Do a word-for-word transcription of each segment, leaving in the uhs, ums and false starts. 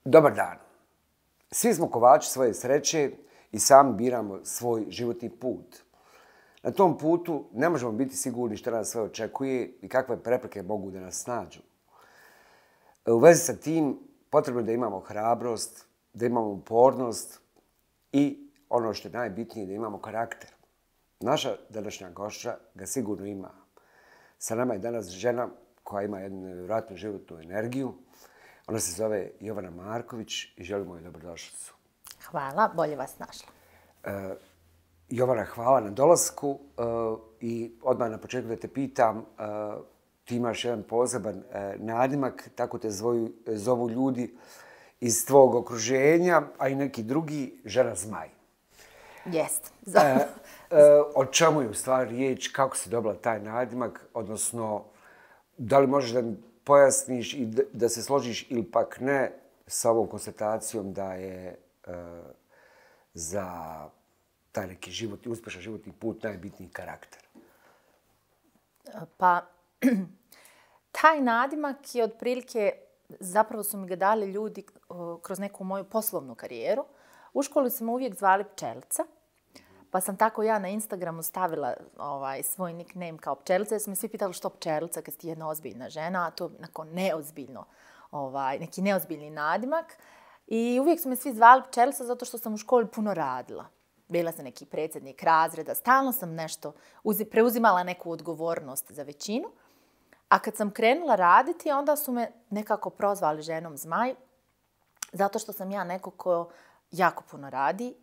Dobar dan. Svi smo kovači svoje sreće i sami biramo svoj životni put. Na tom putu ne možemo biti sigurni što nas sve očekuje i kakve prepreke mogu da nas snađu. U vezi sa tim potrebno je da imamo hrabrost, da imamo upornost i ono što je najbitnije, da imamo karakter. Naša današnja gošća ga sigurno ima. Sa nama je danas žena koja ima jednu nevjerojatnu životnu energiju. Ona se zove Jovana Marković i želimo joj dobrodošlicu. Hvala, bolje vas našla. E, Jovana, hvala na dolasku e, i odmah na početku da te pitam, e, ti imaš jedan poseban e, nadimak, tako te zvoju, zovu ljudi iz tvog okruženja, a i neki drugi, žena zmaj. Jest. E, e, o čemu je u stvari riječ, kako si dobila taj nadimak, odnosno da li možeš da mi pojasniš i da se složiš ili pak ne sa ovom konstatacijom da je e, za taj neki život, uspješan životni put najbitniji karakter? Pa, taj nadimak je otprilike, zapravo su mi ga dali ljudi o, kroz neku moju poslovnu karijeru. U školi su me uvijek zvali Pčelica, pa sam tako ja na Instagramu stavila ovaj, svoj nickname kao Pčelica, jer su me svi pitali što Pčelica kad si ti jedna ozbiljna žena, a to je neozbiljno, ovaj, neki neozbiljni nadimak. I uvijek su me svi zvali Pčelica zato što sam u školi puno radila. Bila sam neki predsjednik razreda, stalno sam nešto, preuzimala neku odgovornost za većinu. A kad sam krenula raditi, onda su me nekako prozvali ženom zmaj, zato što sam ja neko ko jako puno radi,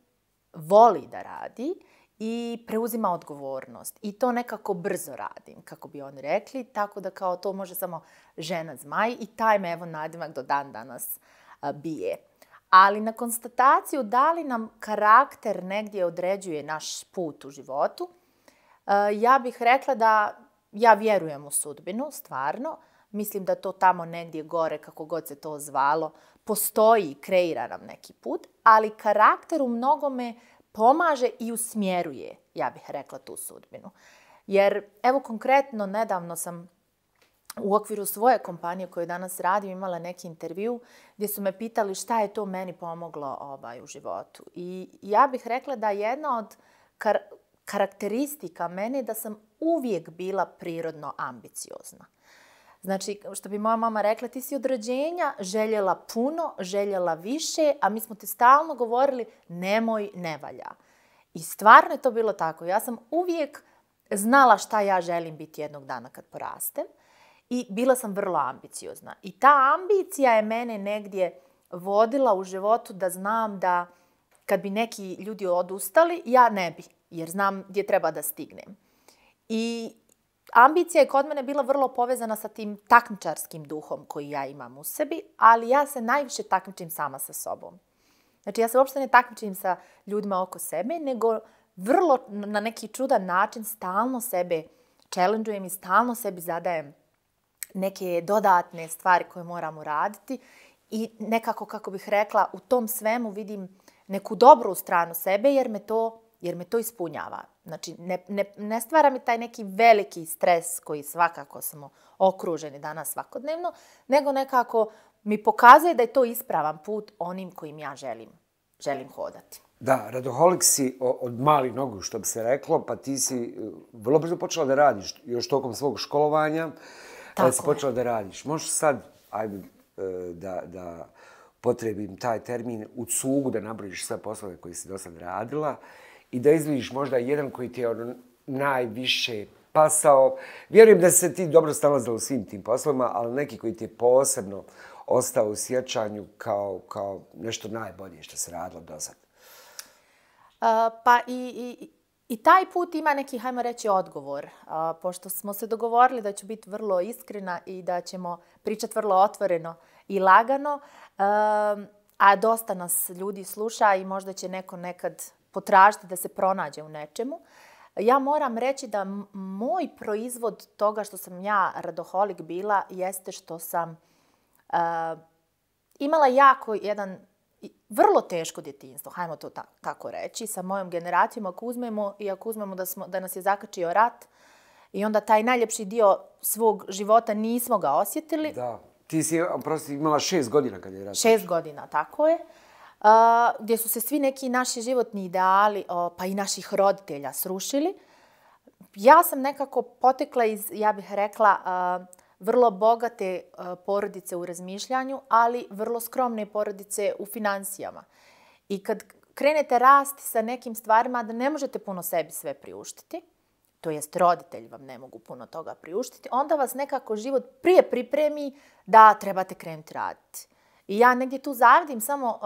voli da radi i preuzima odgovornost. I to nekako brzo radim, kako bi oni rekli, tako da kao to može samo žena zmaj i taj me evo nadimak do dan danas a, bije. Ali na konstataciju da li nam karakter negdje određuje naš put u životu, a, ja bih rekla da ja vjerujem u sudbinu, stvarno. Mislim da to tamo negdje gore, kako god se to zvalo, postoji i kreira nam neki put, ali karakter u mnogome pomaže i usmjeruje, ja bih rekla, tu sudbinu. Jer, evo konkretno, nedavno sam u okviru svoje kompanije koju danas radim imala neki intervju gdje su me pitali šta je to meni pomoglo ovaj, u životu. I ja bih rekla da jedna od kar- karakteristika mene je da sam uvijek bila prirodno ambiciozna. Znači, što bi moja mama rekla, ti si od rođenja željela puno, željela više, a mi smo ti stalno govorili nemoj, ne valja. I stvarno je to bilo tako. Ja sam uvijek znala šta ja želim biti jednog dana kad porastem i bila sam vrlo ambiciozna. I ta ambicija je mene negdje vodila u životu da znam da kad bi neki ljudi odustali, ja ne bi, jer znam gdje treba da stignem. I ambicija je kod mene bila vrlo povezana sa tim takmičarskim duhom koji ja imam u sebi, ali ja se najviše takmičim sama sa sobom. Znači ja se uopšte ne takmičim sa ljudima oko sebe, nego vrlo na neki čudan način stalno sebe challenge'ujem i stalno sebi zadajem neke dodatne stvari koje moram uraditi i nekako, kako bih rekla, u tom svemu vidim neku dobru stranu sebe jer me to jer me to ispunjava. Znači, ne, ne, ne stvara mi taj neki veliki stres koji svakako smo okruženi danas svakodnevno, nego nekako mi pokazuje da je to ispravan put onim kojim ja želim, želim hodati. Da, radoholik si od malih nogu, što bi se reklo, pa ti si vrlo brzo počela da radiš, još tokom svog školovanja, da si počela da radiš. Možeš sad, ajde, da, da potrebim taj termin, u cugu da nabrojiš sve poslove koje si do sad radila, i da izvidiš možda jedan koji ti je ono najviše pasao. Vjerujem da se ti dobro snalazila u svim tim poslovima, ali neki koji ti je posebno ostao u sjećanju kao, kao nešto najbolje što se radilo do sad. Uh, pa i, i, i taj put ima neki, hajmo reći, odgovor. Uh, pošto smo se dogovorili da ću biti vrlo iskrena i da ćemo pričati vrlo otvoreno i lagano, uh, a dosta nas ljudi sluša i možda će neko nekad potražiti da se pronađe u nečemu. Ja moram reći da moj proizvod toga što sam ja radoholik bila jeste što sam uh, imala jako jedan vrlo teško djetinjstvo, hajmo to ta, tako reći, sa mojom generacijom, ako uzmemo i ako uzmemo da, smo, da nas je zakačio rat i onda taj najljepši dio svog života nismo ga osjetili. Da. Ti si, prosti, imala šest godina kad je rat. Šest godina, tako je. Uh, gdje su se svi neki naši životni ideali, uh, pa i naših roditelja srušili. Ja sam nekako potekla iz, ja bih rekla, uh, vrlo bogate uh, porodice u razmišljanju, ali vrlo skromne porodice u financijama. I kad krenete rasti sa nekim stvarima da ne možete puno sebi sve priuštiti, to jest roditelji vam ne mogu puno toga priuštiti, onda vas nekako život prije pripremi da trebate krenuti raditi. I ja negdje tu zavidim samo uh,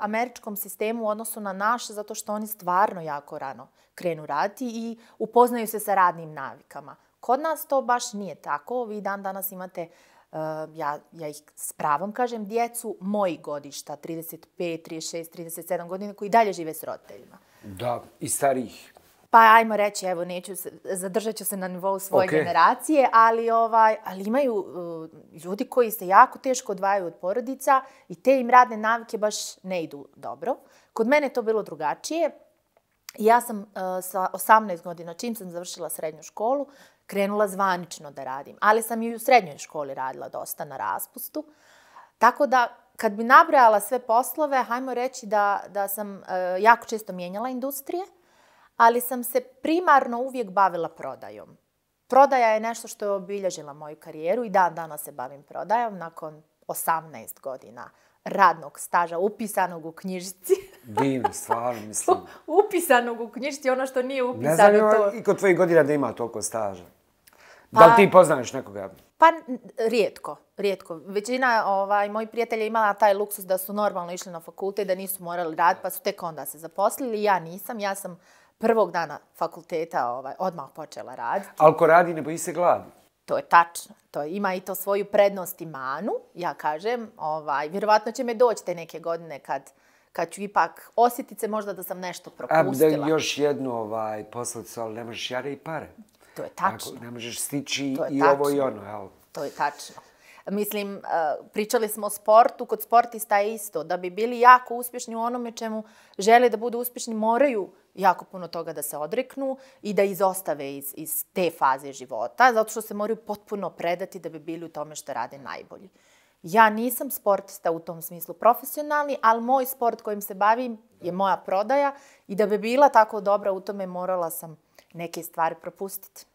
američkom sistemu u odnosu na naš, zato što oni stvarno jako rano krenu raditi i upoznaju se sa radnim navikama. Kod nas to baš nije tako. Vi dan danas imate, uh, ja, ja ih s pravom kažem, djecu mojih godišta, trideset pet, trideset šest, trideset sedam godina, koji dalje žive s roditeljima. Da, i starijih. Pa ajmo reći, evo, neću se, zadržat ću se na nivou svoje okay. generacije, ali, ovaj, ali imaju uh, ljudi koji se jako teško odvajaju od porodica i te im radne navike baš ne idu dobro. Kod mene je to bilo drugačije. Ja sam uh, sa osamnaest godina, čim sam završila srednju školu, krenula zvanično da radim. Ali sam i u srednjoj školi radila dosta na raspustu. Tako da, kad bi nabrajala sve poslove, hajmo reći da, da sam uh, jako često mijenjala industrije, ali sam se primarno uvijek bavila prodajom. Prodaja je nešto što je obilježila moju karijeru i dan danas se bavim prodajom nakon osamnaest godina radnog staža, upisanog u knjižici. Divno, stvarno, mislim. Upisanog u knjižici, ono što nije upisano. Ne znam to... i kod tvojih godina da ima toliko staža. Pa, da li ti poznaš nekoga? Pa rijetko, rijetko. Većina ovaj, mojih prijatelja imala taj luksus da su normalno išli na fakultet, da nisu morali raditi, pa su tek onda se zaposlili. Ja nisam, ja sam prvog dana fakulteta ovaj, odmah počela raditi. Ali ko radi ne boji se gladi. To je tačno. To ima i to svoju prednost i manu, ja kažem. Ovaj, vjerovatno će me doći te neke godine kad, kad ću ipak osjetiti se možda da sam nešto propustila. A da još jednu ovaj, poslicu, ali ne možeš jare i pare. To je tačno. Ako ne možeš stići i tačno. Ovo i ono. Jel? To je tačno. Mislim, pričali smo o sportu, kod sportista je isto. Da bi bili jako uspješni u onome čemu žele da budu uspješni, moraju jako puno toga da se odreknu i da izostave iz, iz te faze života, zato što se moraju potpuno predati da bi bili u tome što rade najbolji. Ja nisam sportista u tom smislu profesionalni, ali moj sport kojim se bavim je moja prodaja i da bi bila tako dobra u tome morala sam neke stvari propustiti.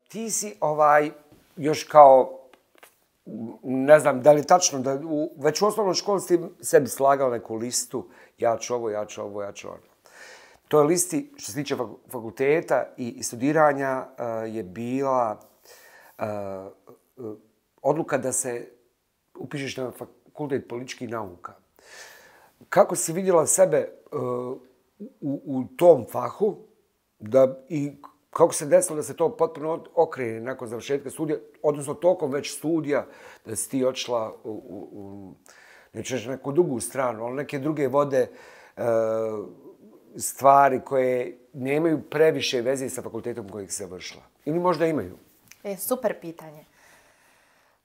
Ti si ovaj, još kao, ne znam, da li je tačno, da u, već u osnovnoj školi si sebi slagala neku listu, ja ću ovo, ja ću ovo, ja ću ono. To je listi, što se tiče fakulteta i studiranja, uh, je bila uh, uh, odluka da se upišeš na fakultet političkih nauka. Kako si vidjela sebe uh, u, u tom fahu da i kako se desilo da se to potpuno okrene nakon završetka studija, odnosno tokom već studija, da si ti odšla u, u, u neću reći neku drugu stranu, ali neke druge vode e, stvari koje nemaju previše veze sa fakultetom kojeg se završila? Ili možda imaju? E, super pitanje.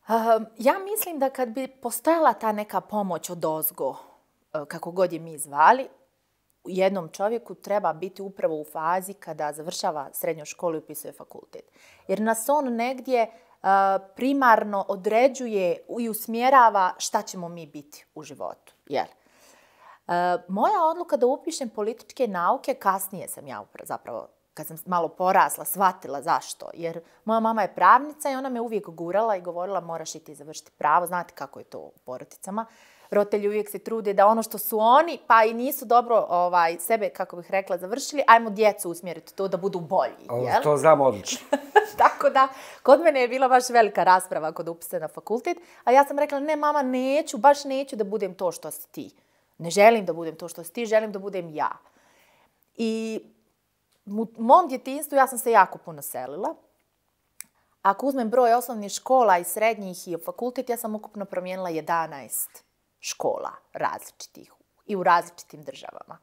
Uh, ja mislim da kad bi postojala ta neka pomoć od ozgo, uh, kako god je mi zvali, jednom čovjeku treba biti upravo u fazi kada završava srednju školu i upisuje fakultet. Jer nas on negdje uh, primarno određuje i usmjerava šta ćemo mi biti u životu. Jel? Uh, moja odluka da upišem političke nauke, kasnije sam ja zapravo, kad sam malo porasla, shvatila zašto. Jer moja mama je pravnica i ona me uvijek gurala i govorila moraš i ti završiti pravo. Znate kako je to u porodicama. Roditelji uvijek se trude da ono što su oni, pa i nisu dobro ovaj, sebe, kako bih rekla, završili, ajmo djecu usmjeriti to da budu bolji. Jel? To znam odlično. Tako da, kod mene je bila baš velika rasprava kod upisa na fakultet, a ja sam rekla, ne mama, neću, baš neću da budem to što si ti. Ne želim da budem to što si ti, želim da budem ja. I u mom djetinjstvu ja sam se jako puno selila. Ako uzmem broj osnovnih škola i srednjih i fakultet, ja sam ukupno promijenila jedanaest škola različitih i u različitim državama.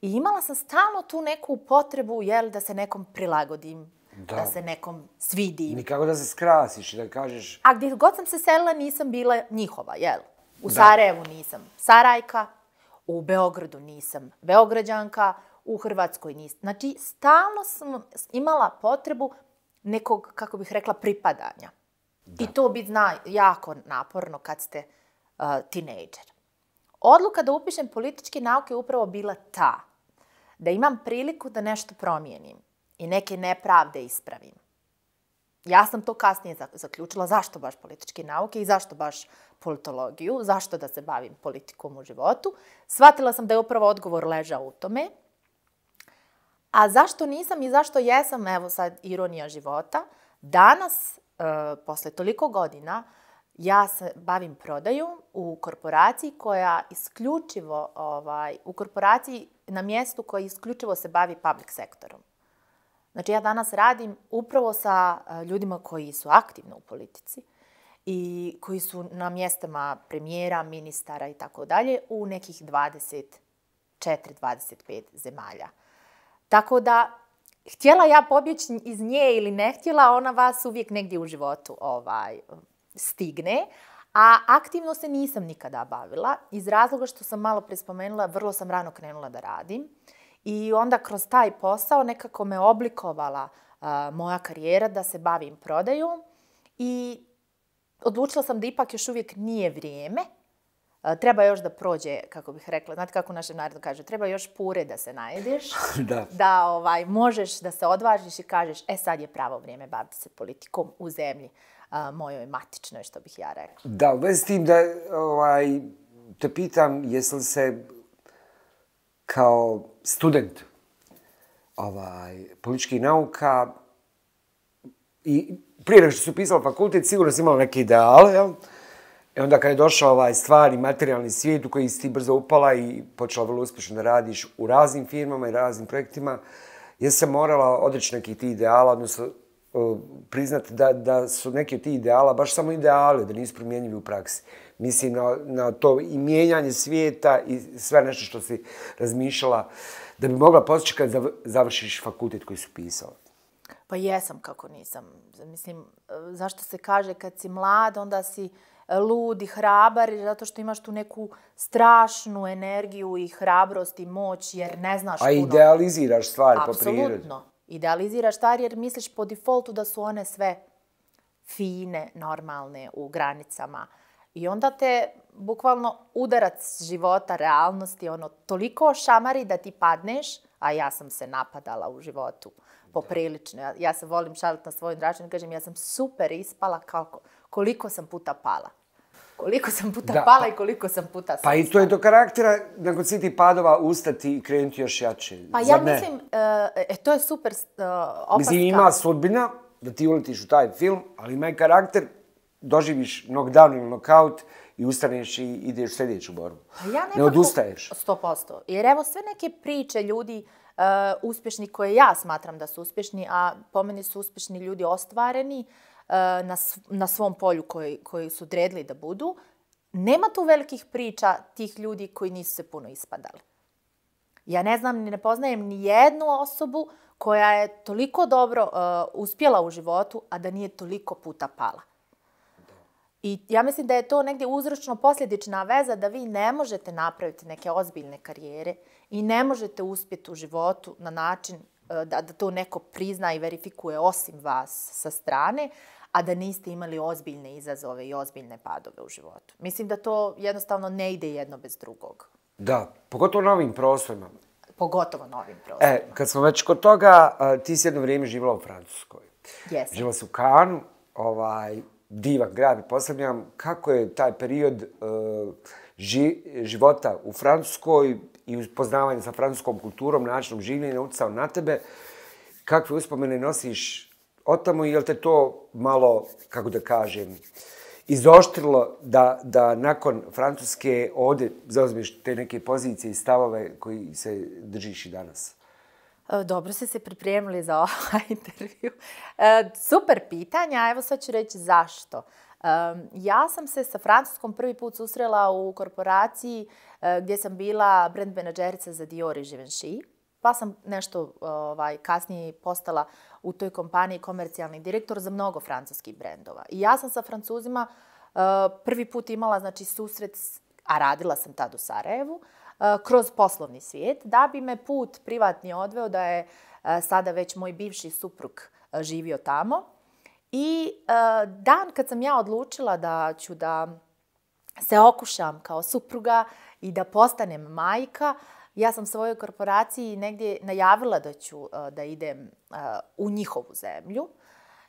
I imala sam stalno tu neku potrebu, jel, da se nekom prilagodim, da, da se nekom svidim. Nikako da se skrasiš i da kažeš... A gdje god sam se selila nisam bila njihova, jel? U da. Sarajevu nisam Sarajka, u Beogradu nisam Beograđanka, u Hrvatskoj nisam. Znači, stalno sam imala potrebu nekog, kako bih rekla, pripadanja. Da. I to bi zna jako naporno kad ste uh, tinejdžer. Odluka da upišem političke nauke je upravo bila ta, da imam priliku da nešto promijenim i neke nepravde ispravim. Ja sam to kasnije zaključila zašto baš političke nauke i zašto baš politologiju, zašto da se bavim politikom u životu. Shvatila sam da je upravo odgovor ležao u tome. A zašto nisam i zašto jesam, evo sad ironija života, danas, e, posle toliko godina, ja se bavim prodajom u korporaciji koja isključivo, ovaj, u korporaciji na mjestu koja isključivo se bavi public sektorom. Znači ja danas radim upravo sa ljudima koji su aktivni u politici i koji su na mjestama premijera, ministara i tako dalje u nekih dvadeset četiri dvadeset pet zemalja. Tako da, htjela ja pobjeći iz nje ili ne htjela, ona vas uvijek negdje u životu ovaj, stigne. A aktivno se nisam nikada bavila iz razloga što sam malo prespomenula, vrlo sam rano krenula da radim. I onda kroz taj posao nekako me oblikovala uh, moja karijera da se bavim prodajom i odlučila sam da ipak još uvijek nije vrijeme. Uh, treba još da prođe, kako bih rekla, znate kako u našem narodu kaže, treba još pure da se najedeš, da, da ovaj, možeš da se odvažiš i kažeš, e sad je pravo vrijeme baviti se politikom u zemlji uh, mojoj matičnoj, što bih ja rekla. Da, u vezi s tim da ovaj, te pitam, jesi li se kao student ovaj, političkih nauka i prije nego što su pisala fakultet, sigurno si imala neke ideale, jel? I onda kad je došao ovaj stvarni materijalni svijet u koji si ti brzo upala i počela vrlo uspješno da radiš u raznim firmama i raznim projektima, jesi se morala odreći nekih tih ideala, odnosno uh, priznati da, da su neki od tih ideala baš samo ideali, da nisu primjenjivi u praksi. Mislim na, na to i mijenjanje svijeta i sve nešto što si razmišljala da bi mogla postići kad završiš fakultet koji su pisala. Pa jesam kako nisam. Mislim, zašto se kaže kad si mlad, onda si lud i hrabar, zato što imaš tu neku strašnu energiju i hrabrost i moć, jer ne znaš puno. A idealiziraš stvari po prirodi. Apsolutno. Idealiziraš stvari jer misliš po defaultu da su one sve fine, normalne, u granicama. I onda te bukvalno udarac života, realnosti, ono, toliko šamari da ti padneš, a ja sam se napadala u životu poprilično. Ja, ja se volim šaliti na svoj račun i kažem ja sam super ispala kako, koliko sam puta pala. Koliko sam puta da, pala pa, i koliko sam puta sam Pa i to je do karaktera, nakon svih tih padova, ustati i krenuti još jače. Pa ja mislim, e, to je super uh, opaska. Mislim, ima sudbina da ti uletiš u taj film, ali ima i karakter, doživiš knockdown ili knockout i ustaneš i ideš u sljedeću borbu. Ja nekako, ne odustaješ. sto posto. Jer evo sve neke priče ljudi uh, uspješni koje ja smatram da su uspješni, a po meni su uspješni ljudi ostvareni uh, na, na svom polju koji, koji su odredili da budu. Nema tu velikih priča tih ljudi koji nisu se puno ispadali. Ja ne znam, ni ne poznajem ni jednu osobu koja je toliko dobro uh, uspjela u životu, a da nije toliko puta pala. I ja mislim da je to negdje uzročno-posljedična veza da vi ne možete napraviti neke ozbiljne karijere i ne možete uspjeti u životu na način da, da to neko prizna i verifikuje osim vas sa strane, a da niste imali ozbiljne izazove i ozbiljne padove u životu. Mislim da to jednostavno ne ide jedno bez drugog. Da, pogotovo na ovim prostorima. Pogotovo na ovim prostorima. E, kad smo već kod toga, ti si jedno vrijeme živjela u Francuskoj. Jesam. Živjela si u Cannesu, ovaj, divan grad i postavljam kako je taj period uh, ži, života u Francuskoj i upoznavanje sa francuskom kulturom, načinom življenja utjecao na tebe. Kakve uspomene nosiš od tamo i je li te to malo, kako da kažem, izoštrilo da, da nakon Francuske ovdje zauzmeš te neke pozicije i stavove koji se držiš i danas? Dobro ste se pripremili za ovaj intervju. Super pitanja, evo sad ću reći zašto. Ja sam se sa Francuskom prvi put susrela u korporaciji gdje sam bila brand menadžerica za Dior i Givenchy, pa sam nešto ovaj, kasnije postala u toj kompaniji komercijalni direktor za mnogo francuskih brendova. I ja sam sa Francuzima prvi put imala znači, susret, a radila sam tad u Sarajevu, kroz poslovni svijet, da bi me put privatni odveo da je sada već moj bivši suprug živio tamo. I dan kad sam ja odlučila da ću da se okušam kao supruga i da postanem majka, ja sam svojoj korporaciji negdje najavila da ću da idem u njihovu zemlju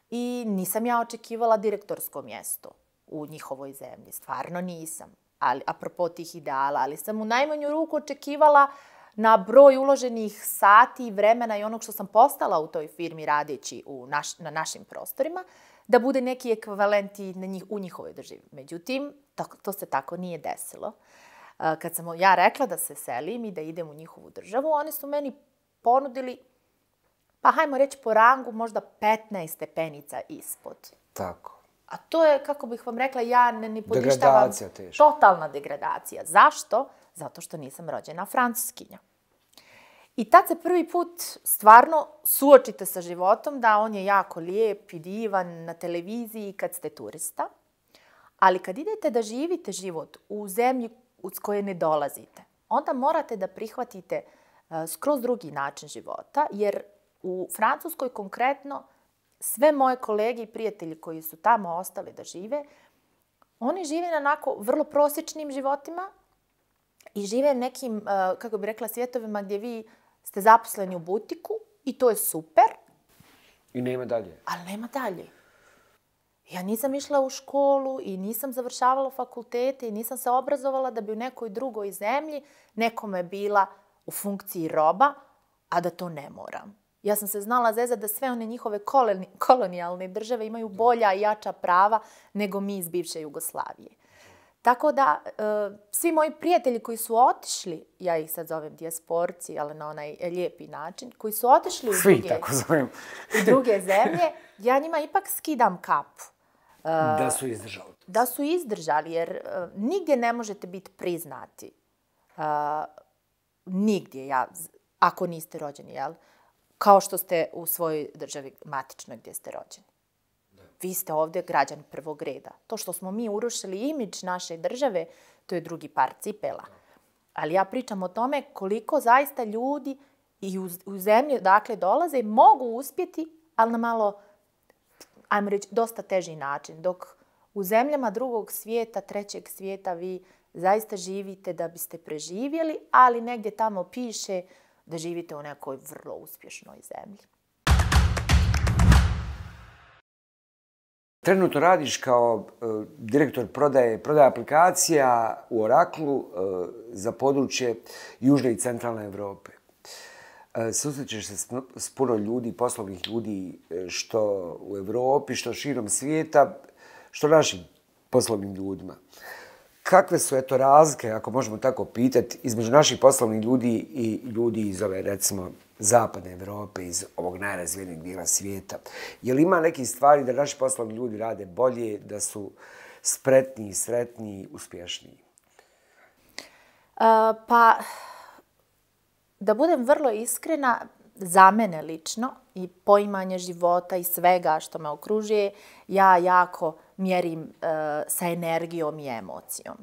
i nisam ja očekivala direktorsko mjesto u njihovoj zemlji. Stvarno nisam. Ali, apropo tih ideala, ali sam u najmanju ruku očekivala na broj uloženih sati i vremena i onog što sam postala u toj firmi radeći u naš, na našim prostorima, da bude neki ekvivalent i na njih, u njihovoj državi. Međutim, to, to se tako nije desilo. Kad sam ja rekla da se selim i da idem u njihovu državu, oni su meni ponudili, pa hajmo reći po rangu, možda petnaest stepenica ispod. Tako. A to je, kako bih vam rekla, ja ne, ne poništavam. Degradacija teška. Totalna degradacija. Zašto? Zato što nisam rođena Francuskinja. I tad se prvi put stvarno suočite sa životom da on je jako lijep i divan na televiziji kad ste turista, ali kad idete da živite život u zemlji uz koje ne dolazite, onda morate da prihvatite uh, skroz drugi način života, jer u Francuskoj konkretno sve moje kolege i prijatelji koji su tamo ostali da žive, oni žive na onako vrlo prosječnim životima i žive nekim, uh, kako bi rekla, svjetovima gdje vi ste zaposleni u butiku i to je super. I nema dalje. Ali nema dalje. Ja nisam išla u školu i nisam završavala fakultete i nisam se obrazovala da bi u nekoj drugoj zemlji nekome bila u funkciji roba, a da to ne moram. Ja sam se znala zezati da sve one njihove koloni, kolonijalne države imaju bolja i jača prava nego mi iz bivše Jugoslavije. Tako da, uh, svi moji prijatelji koji su otišli, ja ih sad zovem dijasporci, ali na onaj lijepi način, koji su otišli u svi, druge, tako zovem. u druge zemlje, ja njima ipak skidam kapu. Uh, da su izdržali. Da su izdržali, jer uh, nigdje ne možete biti priznati. Uh, nigdje, ja, ako niste rođeni, jel? Kao što ste u svojoj državi matičnoj gdje ste rođeni. Vi ste ovdje građani prvog reda. To što smo mi urušili imidž naše države, to je drugi par cipela. Ali ja pričam o tome koliko zaista ljudi i u, u zemlji odakle dolaze mogu uspjeti, ali na malo, ajmo reći, dosta teži način. Dok u zemljama drugog svijeta, trećeg svijeta, vi zaista živite da biste preživjeli, ali negdje tamo piše da živite u nekoj vrlo uspješnoj zemlji. Trenutno radiš kao uh, direktor prodaje, prodaje aplikacija u Oraklu uh, za područje Južne i Centralne Evrope. Uh, susrećeš se s, s puno ljudi, poslovnih ljudi, što u Evropi, što širom svijeta, što našim poslovnim ljudima. Kakve su, eto, razlike, ako možemo tako pitati, između naših poslovnih ljudi i ljudi iz ove, recimo, Zapadne Evrope, iz ovog najrazvijenijeg dijela svijeta? Je li ima nekih stvari da naši poslovni ljudi rade bolje, da su spretniji, sretniji, uspješniji? Uh, pa, da budem vrlo iskrena, za mene lično i poimanje života i svega što me okružuje, ja jako mjerim uh, sa energijom i emocijom.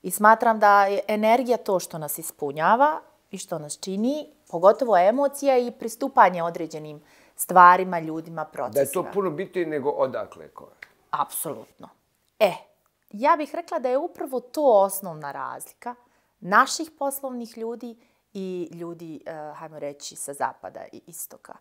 I smatram da je energija to što nas ispunjava i što nas čini, pogotovo emocija i pristupanje određenim stvarima, ljudima, procesima. Da je to puno bitnije nego odakle ko je. Apsolutno. E, ja bih rekla da je upravo to osnovna razlika naših poslovnih ljudi i ljudi, uh, hajmo reći, sa zapada i istoka.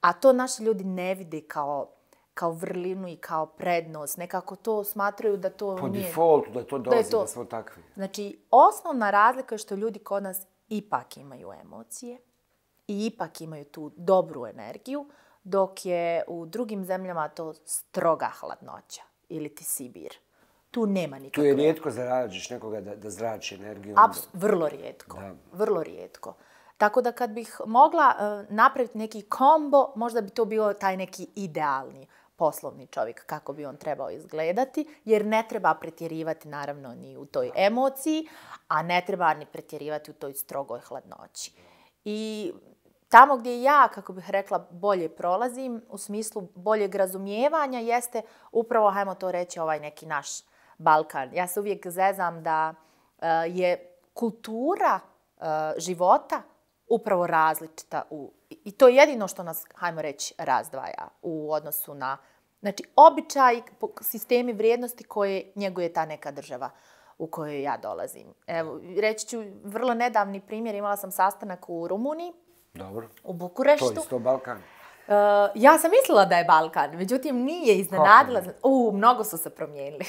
A to naši ljudi ne vide kao, kao vrlinu i kao prednost. Nekako to smatraju da to po nije... Po defaultu, da to dolazi, da, to... da smo takvi. Znači, osnovna razlika je što ljudi kod nas ipak imaju emocije i ipak imaju tu dobru energiju, dok je u drugim zemljama to stroga hladnoća ili ti Sibir. Tu nema nikakve... Tu je rijetko zarađiš nekoga da, da zrači energiju. Apsu, vrlo rijetko. Da. Vrlo rijetko. Tako da kad bih mogla uh, napraviti neki kombo, možda bi to bio taj neki idealni poslovni čovjek, kako bi on trebao izgledati, jer ne treba pretjerivati naravno ni u toj emociji, a ne treba ni pretjerivati u toj strogoj hladnoći. I tamo gdje ja, kako bih rekla, bolje prolazim, u smislu boljeg razumijevanja, jeste upravo, hajmo to reći, ovaj neki naš Balkan. Ja se uvijek zezam da uh, je kultura uh, života upravo različita u I to je jedino što nas, hajmo reći, razdvaja u odnosu na, znači, običaj, sistemi vrijednosti koje njeguje ta neka država u kojoj ja dolazim. Evo, reći ću vrlo nedavni primjer, imala sam sastanak u Rumuniji, Dobro. U Bukureštu. To je isto Balkan. Uh, ja sam mislila da je Balkan, međutim nije iznenadila. U, mnogo su se promijenili.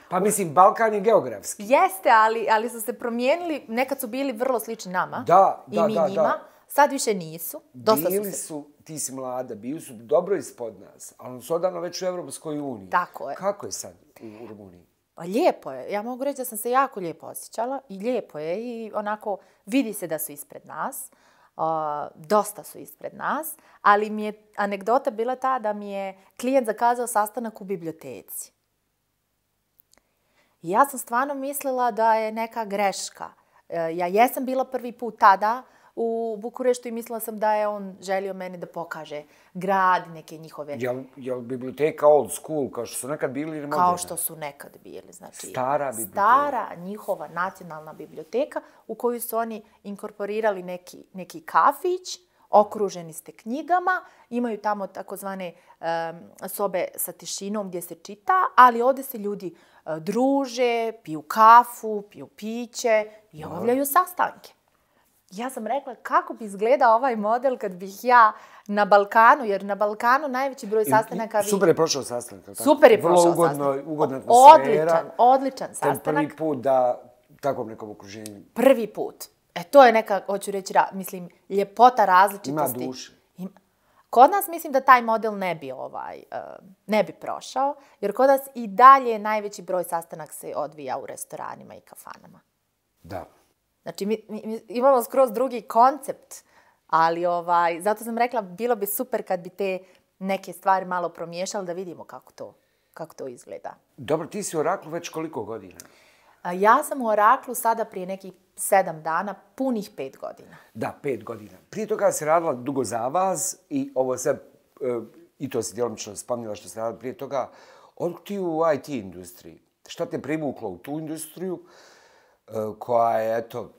Pa mislim, Balkan je geografski. Jeste, ali, ali su se promijenili, nekad su bili vrlo slični nama. Da, I da, mi da, njima. da. Sad više nisu. Dosta bili su, se... su, ti si mlada, bili su dobro ispod nas, ali su odavno već u Evropskoj uniji. Tako je. Kako je sad u Rumuniji? Pa lijepo je. Ja mogu reći da sam se jako lijepo osjećala i lijepo je i onako vidi se da su ispred nas. Uh, dosta su ispred nas, ali mi je anegdota bila ta da mi je klijent zakazao sastanak u biblioteci. I ja sam stvarno mislila da je neka greška. Uh, ja jesam bila prvi put tada u Bukureštu i mislila sam da je on želio meni da pokaže grad, neke njihove... Jel, jel biblioteka old school, kao što su nekad bili ili moderna? Kao što su nekad bili. Znači, stara biblioteka. Stara njihova nacionalna biblioteka u koju su oni inkorporirali neki, neki kafić, okruženi ste knjigama, imaju tamo takozvane um, sobe sa tišinom gdje se čita, ali ovdje se ljudi uh, druže, piju kafu, piju piće i obavljaju sastanke. Ja sam rekla kako bi izgledao ovaj model kad bih ja na Balkanu, jer na Balkanu najveći broj sastanaka... I, super je prošao sastanak. Tako? Super je prošao Vrlo sastanak. Vrlo ugodna atmosfera. Odličan, odličan sastanak. Ten prvi put da takvom nekom okruženju. Prvi put. E, to je neka, hoću reći, mislim, ljepota različitosti. Ima duše. Ima. Kod nas mislim da taj model ne bi, ovaj, ne bi prošao, jer kod nas i dalje najveći broj sastanak se odvija u restoranima i kafanama. Da. Znači, mi, mi imamo skroz drugi koncept, ali ovaj, zato sam rekla, bilo bi super kad bi te neke stvari malo promiješali da vidimo kako to, kako to izgleda. Dobro, ti si u Oraklu već koliko godina? Ja sam u Oraklu sada prije nekih sedam dana, punih pet godina. Da, pet godina. Prije toga si radila dugo za vas i ovo sve, i to si djelomično spomnila što si radila prije toga, otkud ti u I T industriji? Šta te privuklo u tu industriju koja je, eto,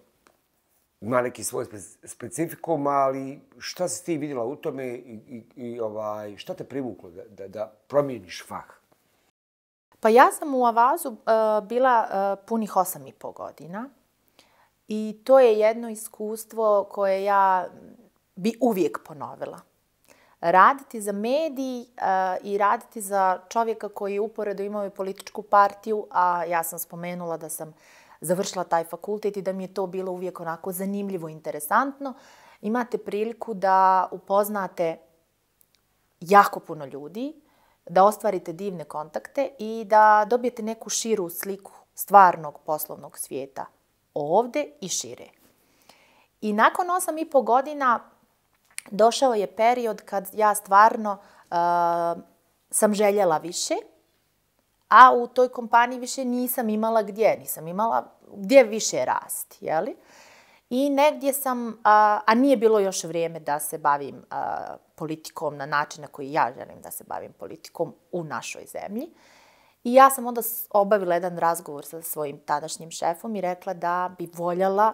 ima neki svoj specifikum, ali šta si ti vidjela u tome i, i, i ovaj, šta te privuklo da, da, da promijeniš fah? Pa ja sam u Avazu uh, bila uh, punih osam i po godina i to je jedno iskustvo koje ja bi uvijek ponovila. Raditi za medij uh, i raditi za čovjeka koji uporedo imao i političku partiju, a ja sam spomenula da sam završila taj fakultet i da mi je to bilo uvijek onako zanimljivo, interesantno. Imate priliku da upoznate jako puno ljudi, da ostvarite divne kontakte i da dobijete neku širu sliku stvarnog poslovnog svijeta ovdje i šire. I nakon osam i po godina došao je period kad ja stvarno uh, sam željela više, a u toj kompaniji više nisam imala gdje, nisam imala gdje više rasti, jeli? I negdje sam, a, a nije bilo još vrijeme da se bavim a, politikom na način na koji ja želim da se bavim politikom u našoj zemlji. I ja sam onda obavila jedan razgovor sa svojim tadašnjim šefom i rekla da bi voljela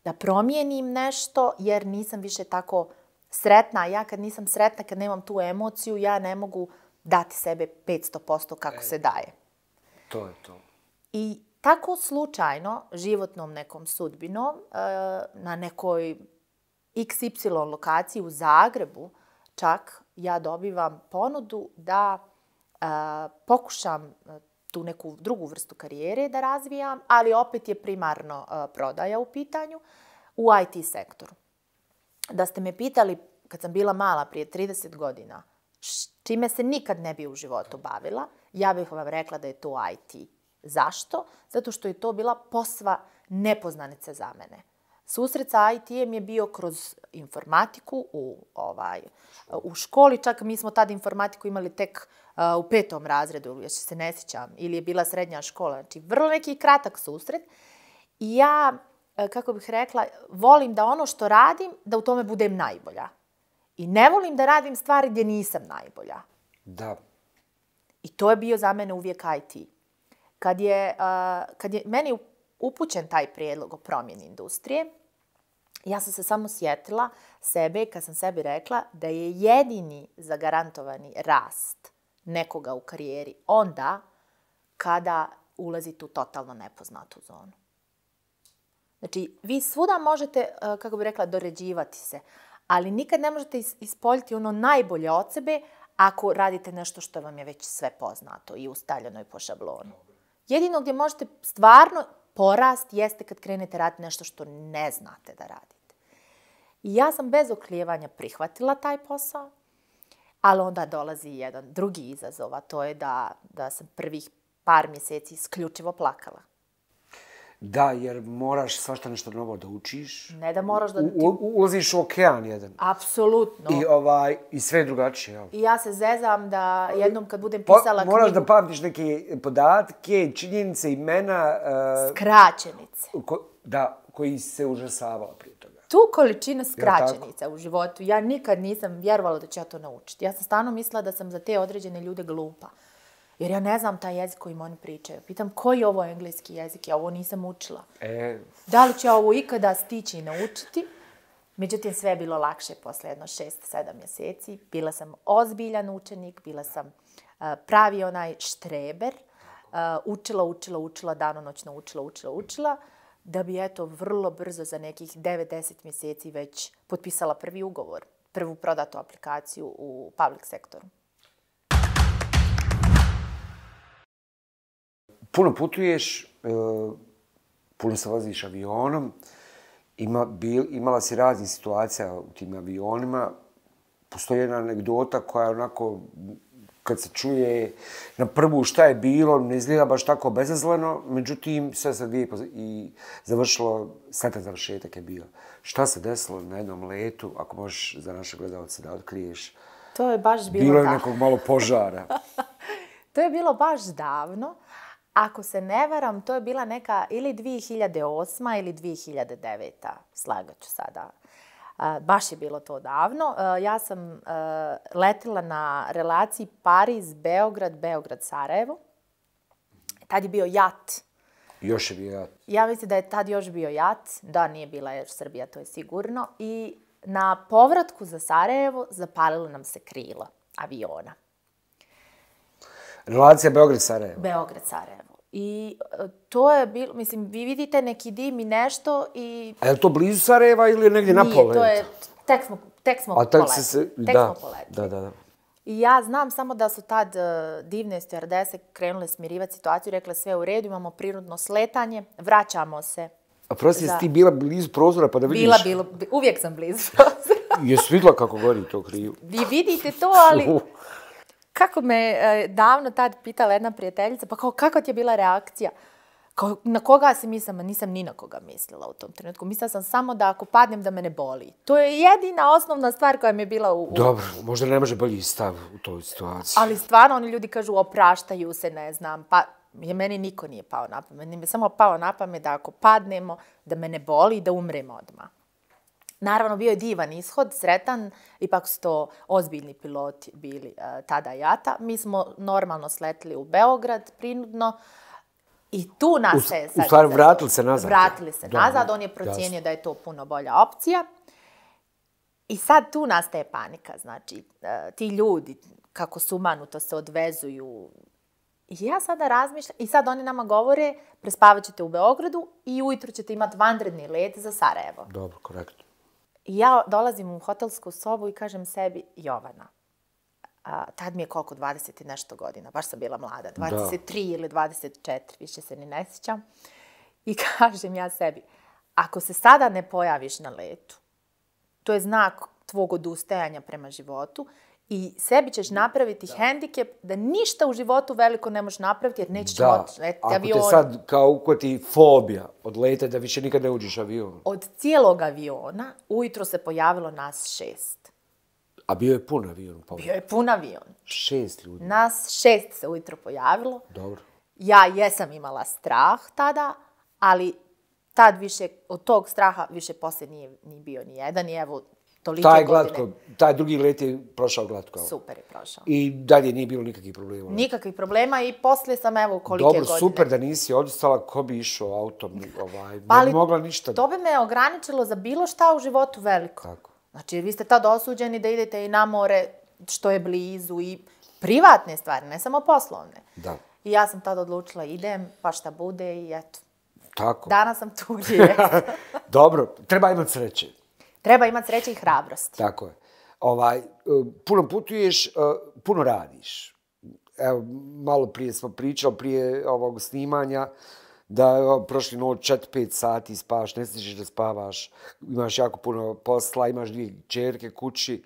da promijenim nešto jer nisam više tako sretna. A ja kad nisam sretna, kad nemam tu emociju, ja ne mogu dati sebe petsto posto kako e, se daje. To je to. I tako slučajno, životnom nekom sudbinom, na nekoj iks ipsilon lokaciji u Zagrebu, čak ja dobivam ponudu da pokušam tu neku drugu vrstu karijere da razvijam, ali opet je primarno prodaja u pitanju u I T sektoru. Da ste me pitali, kad sam bila mala, prije trideset godina, čime se nikad ne bi u životu bavila, ja bih vam rekla da je to I T. Zašto? Zato što je to bila posva nepoznanica za mene. Susret sa I T-em je bio kroz informatiku u, ovaj, u školi, čak mi smo tad informatiku imali tek uh, u petom razredu, još se ne sjećam, ili je bila srednja škola. Znači, vrlo neki kratak susret. I ja, kako bih rekla, volim da ono što radim, da u tome budem najbolja. I ne volim da radim stvari gdje nisam najbolja. Da. I to je bio za mene uvijek I T. Kad je, uh, kad je meni upućen taj prijedlog o promjeni industrije, Ja sam se samo sjetila sebe kad sam sebi rekla da je jedini zagarantovani rast nekoga u karijeri onda kada ulazite u totalno nepoznatu zonu. Znači, vi svuda možete, kako bih rekla, doređivati se, ali nikad ne možete ispoljiti ono najbolje od sebe ako radite nešto što vam je već sve poznato i ustaljeno i po šablonu. Jedino gdje možete stvarno porast jeste kad krenete raditi nešto što ne znate da radite. I ja sam bez oklijevanja prihvatila taj posao, ali onda dolazi jedan drugi izazov, a to je da, da sam prvih par mjeseci isključivo plakala. Da, jer moraš svašta nešto novo da učiš. Ne da moraš da... U, u, ulaziš u okean jedan. Apsolutno. I, ovaj, i sve je drugačije. Jel? I ja se zezam da jednom kad budem pisala po, moraš knjigu... da pamtiš neke podatke, činjenice, imena... Uh, Skraćenice. Ko, da, koji se užasavala prije toga. Tu količina skraćenica u životu, ja nikad nisam vjerovala da ću ja to naučiti. Ja sam stvarno mislila da sam za te određene ljude glupa. Jer ja ne znam taj jezik kojim oni pričaju. Pitam, koji je ovo engleski jezik? Ja ovo nisam učila. E... Da li će ovo ikada stići i naučiti? Međutim, sve je bilo lakše posle jedno šest, sedam mjeseci. Bila sam ozbiljan učenik, bila sam uh, pravi onaj štreber. Uh, učila, učila, učila, danonoćno učila, učila, učila. Da bi, eto, vrlo brzo za nekih devet do deset mjeseci već potpisala prvi ugovor, prvu prodatu aplikaciju u public sektoru. Puno putuješ, puno se voziš avionom, ima, bil, imala si raznih situacija u tim avionima. Postoji jedna anegdota koja onako, kad se čuje na prvu šta je bilo, ne izgleda baš tako bezazleno, međutim, sve se lijepo i završilo, sretan završetak je bio. Šta se desilo na jednom letu, ako možeš za naše gledalce da otkriješ? To je baš bilo Bilo je da. nekog malo požara. To je bilo baš davno. Ako se ne varam, to je bila neka ili dvije hiljade osma ili dvije hiljade deveta. Slagat ću sada. Uh, baš je bilo to davno. Uh, ja sam uh, letila na relaciji Pariz-Beograd, Beograd-Sarajevo. Tad je bio jat. Još je bio jat. Ja mislim da je tad još bio jat. Da, nije bila Air Srbija, to je sigurno. I na povratku za Sarajevo zapalilo nam se krilo aviona. Relacija Beograd-Sarajevo. Beograd-Sarajevo. I to je bilo, mislim, vi vidite neki dim i nešto i... A je li to blizu Sarajeva ili je negdje na poletu? Nije, to je, tek smo, tek smo A, poletili. Se, tek da, smo poletili. da, da, da. I ja znam samo da su tad uh, divne stewardese krenule smirivati situaciju, rekle sve u redu, imamo prirodno sletanje, vraćamo se. A prosti, za... jesi ti bila blizu prozora pa da vidiš? Bila, bilo, uvijek sam blizu prozora. Jesi vidjela kako gori to krivo? Vi vidite to, ali... Kako me e, davno tad pitala jedna prijateljica, pa kao, kakva ti je bila reakcija? Kao, na koga si mislila? Nisam ni na koga mislila u tom trenutku. Mislila sam samo da ako padnem da me ne boli. To je jedina osnovna stvar koja mi je bila u... u... Dobro, možda ne može bolji stav u toj situaciji. Ali stvarno oni ljudi kažu opraštaju se, ne znam, pa je meni niko nije pao na pamet. Meni mi je samo pao na pamet da ako padnemo, da me ne boli i da umremo odmah. Naravno, bio je divan ishod, sretan, ipak su to ozbiljni piloti bili uh, tada jata. Mi smo normalno sletili u Beograd, prinudno, i tu nas se... U, u stvari, vratili se nazad. Vratili se da, nazad, on je procijenio da je to puno bolja opcija. I sad tu nastaje panika, znači, uh, ti ljudi, kako sumanuto se odvezuju. I ja sada razmišljam, i sad oni nama govore, prespavat ćete u Beogradu i ujutro ćete imati vanredni let za Sarajevo. Dobro, korektno. I ja dolazim u hotelsku sobu i kažem sebi, Jovana, a, tad mi je koliko, dvadeset i nešto godina, baš sam bila mlada, dvadeset tri da. Ili dvadeset četiri, više se ni ne sjećam. I kažem ja sebi, ako se sada ne pojaviš na letu, to je znak tvog odustajanja prema životu i sebi ćeš napraviti da. hendikep da ništa u životu veliko ne možeš napraviti jer nećeš moći letiti avion. Ako te sad kao ukvati fobija od leta da više nikad ne uđeš avion. Od cijelog aviona ujutro se pojavilo nas šest. A bio je pun avion? Pa... Bio je pun avion. Šest ljudi? Nas šest se ujutro pojavilo. Dobro. Ja jesam imala strah tada, ali tad više, od tog straha više poslije nije ni bio ni jedan. I evo, tolike taj godine. glatko, taj drugi let je prošao glatko. Super je prošao. I dalje nije bilo nikakvih problema. Nikakvih problema i poslije sam evo kolike Dobro, godine. Dobro, super da nisi odustala, ko bi išao autom, ovaj, Pa, ne bi mogla ništa. To bi me ograničilo za bilo šta u životu veliko. Tako. Znači, vi ste tad osuđeni da idete i na more što je blizu i privatne stvari, ne samo poslovne. Da. I ja sam tad odlučila idem, pa šta bude i eto. Tako. Danas sam tu gdje jesam. Dobro, treba imati sreće. Treba imati sreće i hrabrosti. Tako je. Ovaj, puno putuješ, puno radiš. Evo, malo prije smo pričali, prije ovog snimanja, da evo, prošli noć četiri pet sati spavaš, ne stižeš da spavaš, imaš jako puno posla, imaš dvije čerke kući.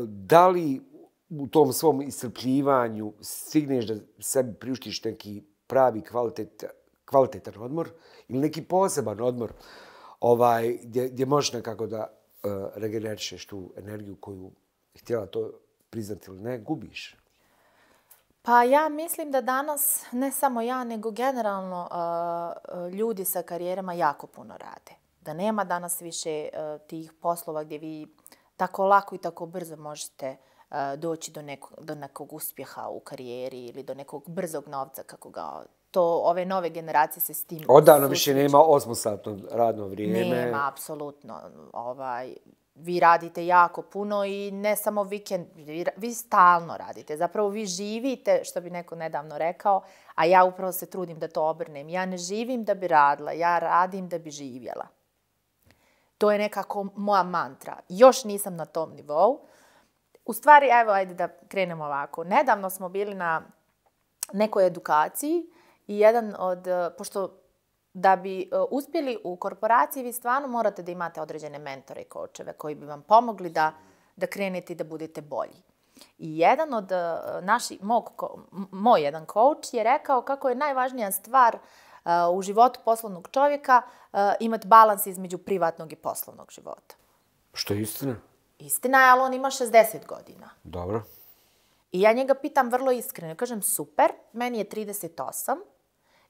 Da li u tom svom iscrpljivanju stigneš da sebi priuštiš neki pravi kvalitet, kvalitetan odmor ili neki poseban odmor ovaj, gdje, gdje možeš nekako da uh, regenerišeš tu energiju koju htjela to priznati ili ne, gubiš? Pa ja mislim da danas, ne samo ja, nego generalno uh, ljudi sa karijerama jako puno rade. Da nema danas više uh, tih poslova gdje vi tako lako i tako brzo možete uh, doći do nekog, do nekog uspjeha u karijeri ili do nekog brzog novca, kako ga to ove nove generacije se s tim Odavno više nema osmosatno radno vrijeme. Nema, apsolutno. Ovaj, vi radite jako puno i ne samo vikend, vi, vi stalno radite. Zapravo vi živite, što bi neko nedavno rekao, a ja upravo se trudim da to obrnem. Ja ne živim da bi radila, ja radim da bi živjela. To je nekako moja mantra. Još nisam na tom nivou. U stvari, evo, ajde da krenemo ovako. Nedavno smo bili na nekoj edukaciji i jedan od, pošto da bi uspjeli u korporaciji, vi stvarno morate da imate određene mentore i kočeve koji bi vam pomogli da, da krenete i da budete bolji. I jedan od naših, mog, moj jedan coach je rekao kako je najvažnija stvar uh, u životu poslovnog čovjeka uh, imati balans između privatnog i poslovnog života. Što je istina? Istina je, ali on ima šezdeset godina. Dobro. I ja njega pitam vrlo iskreno. Kažem, super, meni je trideset osam.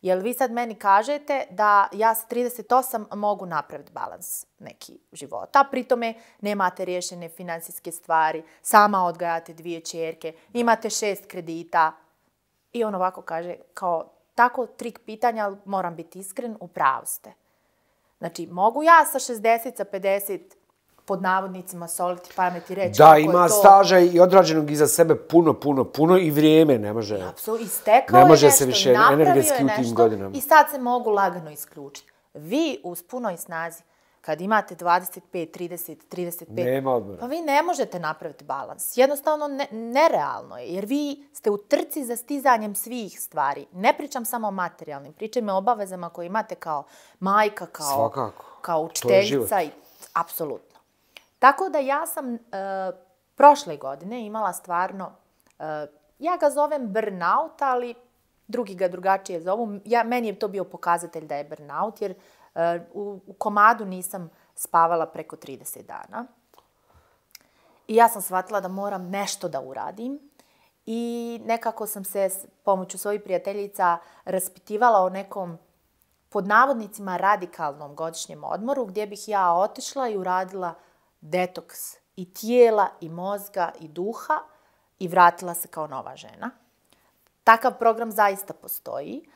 Jel vi sad meni kažete da ja sa trideset osam mogu napraviti balans neki života, a pritome nemate riješene financijske stvari, sama odgajate dvije čerke, imate šest kredita. I on ovako kaže, kao tako trik pitanja, ali moram biti iskren, u pravu ste. Znači, mogu ja sa šezdeset, sa pedeset pod navodnicima soliti pamet i reći da, kako je ima to... staža i odrađenog iza sebe puno, puno, puno i vrijeme ne može. Apsolutno, istekao ne može je se nešto, više napravio energetski je u tim nešto godinama. i sad se mogu lagano isključiti. Vi uz punoj snazi, kad imate dvadeset pet, trideset, trideset pet, nema odmora. Pa vi ne možete napraviti balans. Jednostavno ne, nerealno je, jer vi ste u trci za stizanjem svih stvari. Ne pričam samo o materijalnim, pričam o obavezama koje imate kao majka, kao, Svakako. kao učiteljica. I, apsolutno. Tako da ja sam uh, prošle godine imala stvarno, uh, ja ga zovem burnout, ali drugi ga drugačije zovu. Ja, meni je to bio pokazatelj da je burnout, jer uh, u, u komadu nisam spavala preko trideset dana. I ja sam shvatila da moram nešto da uradim. I nekako sam se s pomoću svojih prijateljica raspitivala o nekom, pod navodnicima, radikalnom godišnjem odmoru, gdje bih ja otišla i uradila detoks i tijela, i mozga, i duha i vratila se kao nova žena. Takav program zaista postoji.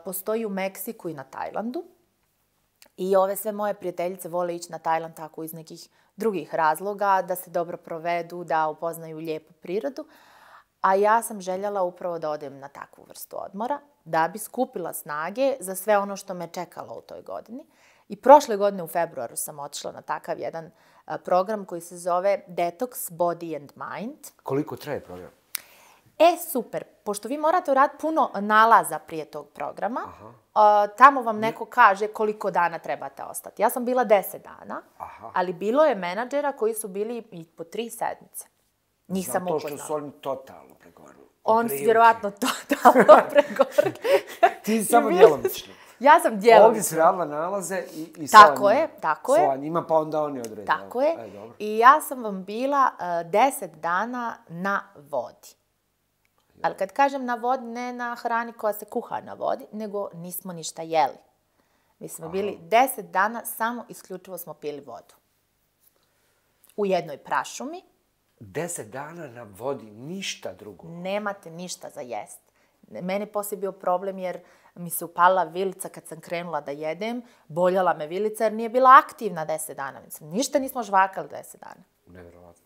Postoji u Meksiku i na Tajlandu. I ove sve moje prijateljice vole ići na Tajland tako iz nekih drugih razloga, da se dobro provedu, da upoznaju lijepu prirodu. A ja sam željela upravo da odem na takvu vrstu odmora, da bi skupila snage za sve ono što me čekalo u toj godini. I prošle godine u februaru sam otišla na takav jedan program koji se zove Detox Body and Mind. Koliko traje program? E, super. Pošto vi morate uraditi puno nalaza prije tog programa, uh, tamo vam neko kaže koliko dana trebate ostati. Ja sam bila deset dana, Aha. ali bilo je menadžera koji su bili i po tri sedmice. Njih sam Zato upoznala. što su oni totalno pregorili. On su vjerovatno totalno pregorili. Ti samo djelomično. Ja sam djelomično. Ovdje si radila nalaze i, i tako je, tako je. sa njima, pa onda oni odrede. Tako je. Aj, dobro. I ja sam vam bila uh, deset dana na vodi. Ali kad kažem na vodi, ne na hrani koja se kuha na vodi, nego nismo ništa jeli. Mi smo Aha. bili deset dana, samo isključivo smo pili vodu. u jednoj prašumi. Deset dana na vodi, ništa drugo. Nemate ništa za jest. Meni je poslije bio problem jer mi se upalila vilica kad sam krenula da jedem. Boljala me vilica jer nije bila aktivna deset dana. Mislim, ništa nismo žvakali deset dana. Nevjerovatno.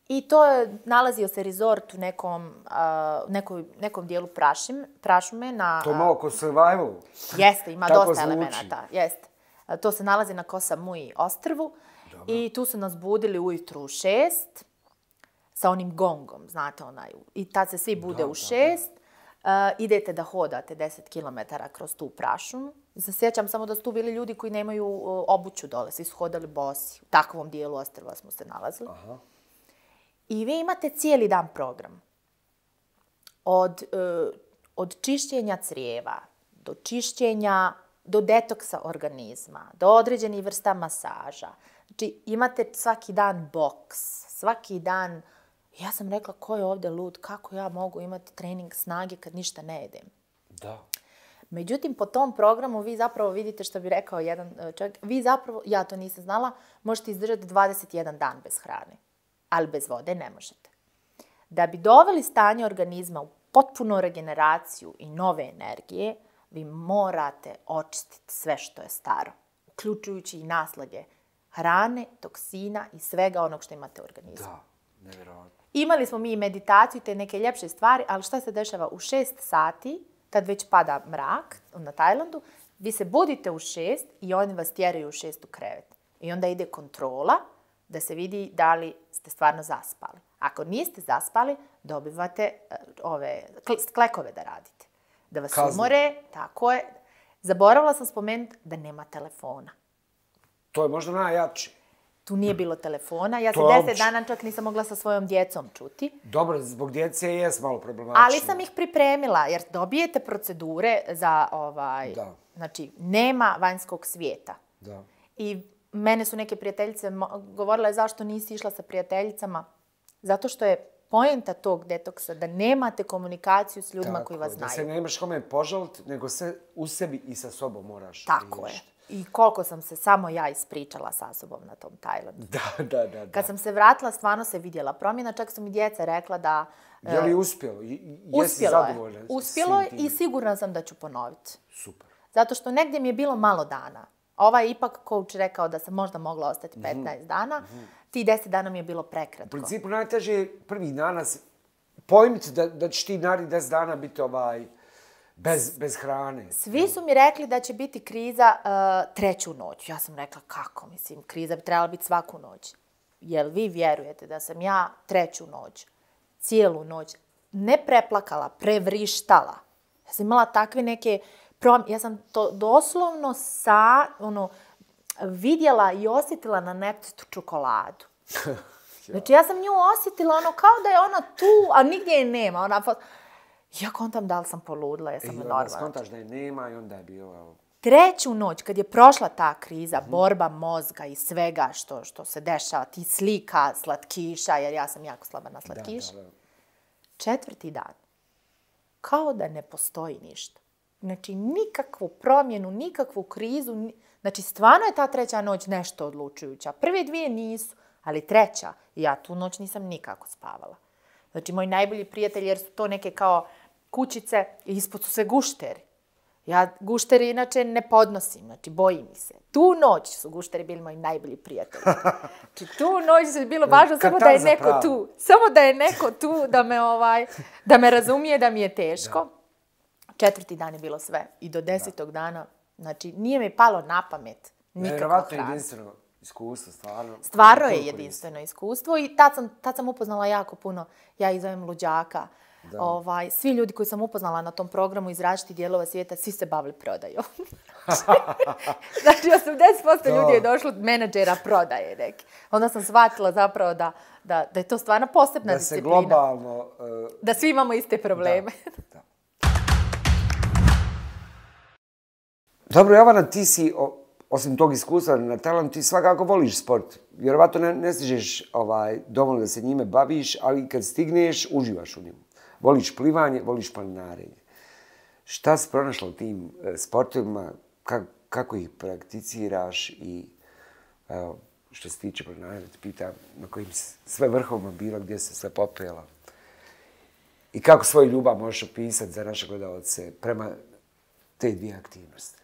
I to je, nalazio se rezort u nekom, uh, nekoj, nekom dijelu prašim, prašume. Na, to je malo ko survival. Jeste, ima Tako dosta zvuči. elemenata. Jeste. Uh, to se nalazi na Ko Samui ostrvu. Dobro. I tu su nas budili ujutru u šest sa onim gongom, znate onaj. I tad se svi bude da, u šest. Uh, idete da hodate deset kilometara kroz tu prašumu. Se sjećam samo da su tu bili ljudi koji nemaju uh, obuću dole. Svi su hodali bosi. U takvom dijelu ostrva smo se nalazili. Aha. I vi imate cijeli dan program. Od, uh, od čišćenja crijeva, do čišćenja, do detoksa organizma, do određenih vrsta masaža. Znači, imate svaki dan boks, svaki dan. Ja sam rekla, ko je ovdje lud, kako ja mogu imati trening snage kad ništa ne jedem? Da. Međutim, po tom programu vi zapravo vidite što bi rekao jedan čovjek, vi zapravo, ja to nisam znala, možete izdržati dvadeset jedan dan bez hrane, ali bez vode ne možete. Da bi doveli stanje organizma u potpunu regeneraciju i nove energije, vi morate očistiti sve što je staro, uključujući i naslage hrane, toksina i svega onog što imate u organizmu. Da, nevjerovatno. Imali smo mi i meditaciju, te neke ljepše stvari, ali šta se dešava? U šest sati, kad već pada mrak na Tajlandu, vi se budite u šest i oni vas tjeraju u šest u krevet. I onda ide kontrola da se vidi da li ste stvarno zaspali. Ako niste zaspali, dobivate uh, ove klekove da radite. Da vas Kazne. umore, tako je. Zaboravila sam spomenuti da nema telefona. To je možda najjače. Tu nije bilo telefona. Ja se deset opće. dana čak nisam mogla sa svojom djecom čuti. Dobro, zbog djece je malo problematično. Ali sam ih pripremila, jer dobijete procedure za ovaj... Da. Znači, nema vanjskog svijeta. Da. I mene su neke prijateljice govorile zašto nisi išla sa prijateljicama. Zato što je poenta tog detoksa da nemate komunikaciju s ljudima Tako, koji vas znaju. Da se nemaš kome požaliti, nego se u sebi i sa sobom moraš Tako riješiti. je. I koliko sam se samo ja ispričala sa sobom na tom Tajlandu. Da, da, da, da. Kad sam se vratila, stvarno se vidjela promjena. Čak su mi djeca rekla da... Je li uspjelo? Jesi zadovoljna? Uspjelo je i sigurna sam da ću ponoviti. Super. Zato što negdje mi je bilo malo dana. Ovaj je ipak coach rekao da sam možda mogla ostati petnaest dana. Mm-hmm. Ti deset dana mi je bilo prekratko. U principu najteže je prvih dana pojmiti da, da će ti narednih deset dana biti ovaj... Bez, bez hrane. Svi su mi rekli da će biti kriza uh, treću noć. Ja sam rekla kako, mislim, kriza bi trebala biti svaku noć. Jel vi vjerujete da sam ja treću noć, cijelu noć, ne preplakala, prevrištala. Ja sam imala takve neke prom... Ja sam to doslovno sa, ono, vidjela i osjetila na nektu čokoladu. Znači ja sam nju osjetila ono kao da je ona tu, a nigdje je nema. Ona... Ja kontam da li sam poludila, ja sam normalna. I onda skontaš da je nema i onda je bio... Treću noć, kad je prošla ta kriza, mm-hmm. borba mozga i svega što, što se dešava, ti slika, slatkiša, jer ja sam jako slaba na slatkiš. Da, da, da. Četvrti dan, kao da ne postoji ništa. Znači, nikakvu promjenu, nikakvu krizu. Znači, stvarno je ta treća noć nešto odlučujuća. Prve dvije nisu, ali treća, ja tu noć nisam nikako spavala. Znači, moji najbolji prijatelji, jer su to neke kao kućice, i ispod su sve gušteri. Ja gušteri inače ne podnosim, znači bojim mi se. Tu noć su gušteri bili moji najbolji prijatelji. Znači, tu noć je bilo važno samo da je neko pravo. tu. Samo da je neko tu, da me, ovaj, da me razumije da mi je teško. Da. Četvrti dan je bilo sve. I do desetog da. dana, znači, nije mi palo na pamet nikako hrana. Jedinstveno iskustvo, stvarno. Stvarno je jedinstveno iskustvo i tad sam, tad sam upoznala jako puno, ja ih zovem luđaka. Ovaj, svi ljudi koji sam upoznala na tom programu iz različitih dijelova svijeta, svi se bavili prodajom. Znači, osamdeset posto ljudi je došlo od menadžera prodaje neki. Onda sam shvatila zapravo da, da, da je to stvarno posebna da disciplina. Da se globalno... Uh... Da svi imamo iste probleme. Da, da. Dobro, Jovana, ti si... O... Osim tog iskustva na Tajlandu, ti svakako voliš sport. Vjerovatno ne, ne stižeš ovaj, dovoljno da se njime baviš, ali kad stigneš, uživaš u njemu. Voliš plivanje, voliš planinarenje. Šta si pronašla u tim e, sportovima, ka, kako ih prakticiraš i evo, što se tiče planinarenja, te pitam na kojim sve vrhovima bila, gdje se sve popela. I kako svoju ljubav možeš opisati za naše gledalce prema te dvije aktivnosti?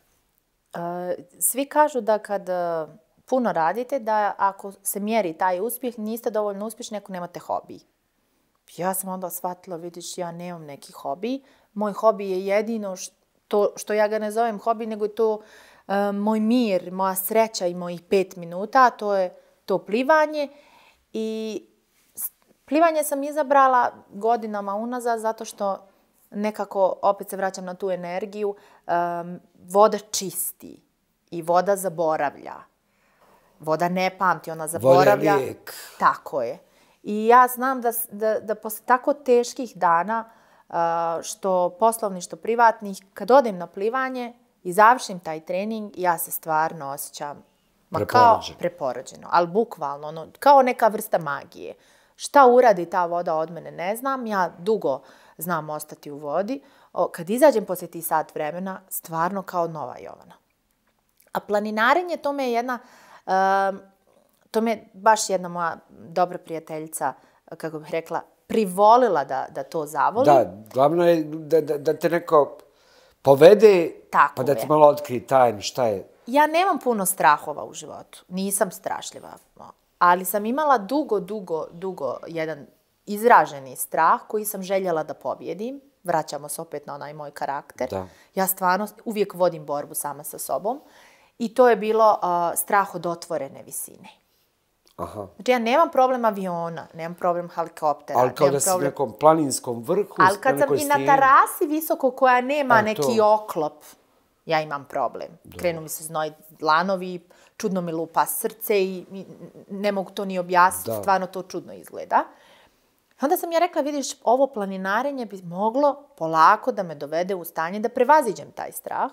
Svi kažu da kad puno radite, da ako se mjeri taj uspjeh, niste dovoljno uspješni ako nemate hobi. Ja sam onda shvatila, vidiš, ja nemam neki hobi. Moj hobi je jedino što, što ja ga ne zovem hobi, nego je to uh, moj mir, moja sreća i mojih pet minuta, to je to plivanje. I plivanje sam izabrala godinama unazad zato što nekako, opet se vraćam na tu energiju, um, voda čisti i voda zaboravlja. Voda ne pamti, ona zaboravlja. Voda je lijek. Tako je. I ja znam da, da, da posle tako teških dana, uh, što poslovni, što privatnih, kad odem na plivanje i završim taj trening, ja se stvarno osjećam ma kao preporođeno, ali bukvalno, ono, kao neka vrsta magije. Šta uradi ta voda od mene ne znam, ja dugo znam ostati u vodi. O, kad izađem poslije tih sat vremena, stvarno kao nova Jovana. A planinarenje, to me je jedna, uh, to me je baš jedna moja dobra prijateljica, kako bih rekla, privolila da, da to zavoli. Da, glavno je da, da, da te neko povede, tako pa da ti je. malo otkrije tajnu šta je. Ja nemam puno strahova u životu, nisam strašljiva, ali sam imala dugo, dugo, dugo jedan izraženi strah koji sam željela da pobjedim. Vraćamo se opet na onaj moj karakter. Da. Ja stvarno uvijek vodim borbu sama sa sobom. I to je bilo uh, strah od otvorene visine. Aha. Znači ja nemam problem aviona, nemam problem helikoptera. Ali kao da si problem... u nekom planinskom vrhu. Ali kad sam i na terasi visoko koja nema A, neki to. oklop, ja imam problem. Da. Krenu mi se znoj dlanovi, čudno mi lupa srce i ne mogu to ni objasniti, da. Stvarno to čudno izgleda. Onda sam ja rekla, vidiš, ovo planinarenje bi moglo polako da me dovede u stanje da prevaziđem taj strah.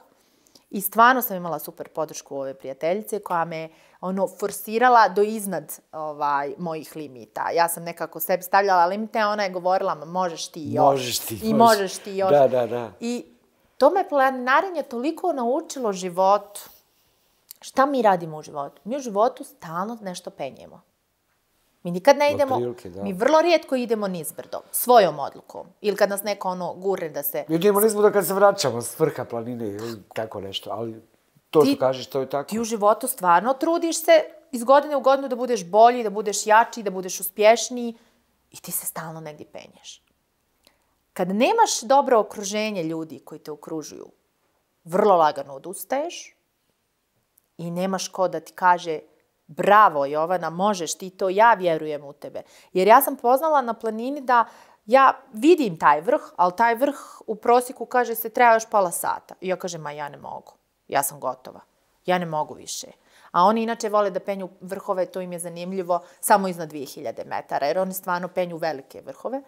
I stvarno sam imala super podršku ove prijateljice koja me ono forsirala do iznad ovaj, mojih limita. Ja sam nekako sebi stavljala limite, a ona je govorila, možeš ti još. Možeš ti. I možeš ti još. Da, da, da. I to me planinarenje toliko naučilo životu. Šta mi radimo u životu? Mi u životu stalno nešto penjemo. Mi nikad ne idemo, prilike, da. Mi vrlo rijetko idemo nizbrdo, svojom odlukom. Ili kad nas neko ono gurne da se... Mi idemo nizbrdo kad se vraćamo s vrha planine ili tako nešto, ali to ti, što kažeš, to je tako. Ti u životu stvarno trudiš se iz godine u godinu da budeš bolji, da budeš jači, da budeš uspješniji i ti se stalno negdje penješ. Kad nemaš dobro okruženje ljudi koji te okružuju, vrlo lagano odustaješ i nemaš ko da ti kaže bravo Jovana, možeš ti to, ja vjerujem u tebe. Jer ja sam poznala na planini da ja vidim taj vrh, ali taj vrh u prosjeku kaže se treba još pola sata. I ja kažem, ma ja ne mogu, ja sam gotova, ja ne mogu više. A oni inače vole da penju vrhove, to im je zanimljivo, samo iznad dvije hiljade metara, jer oni stvarno penju velike vrhove.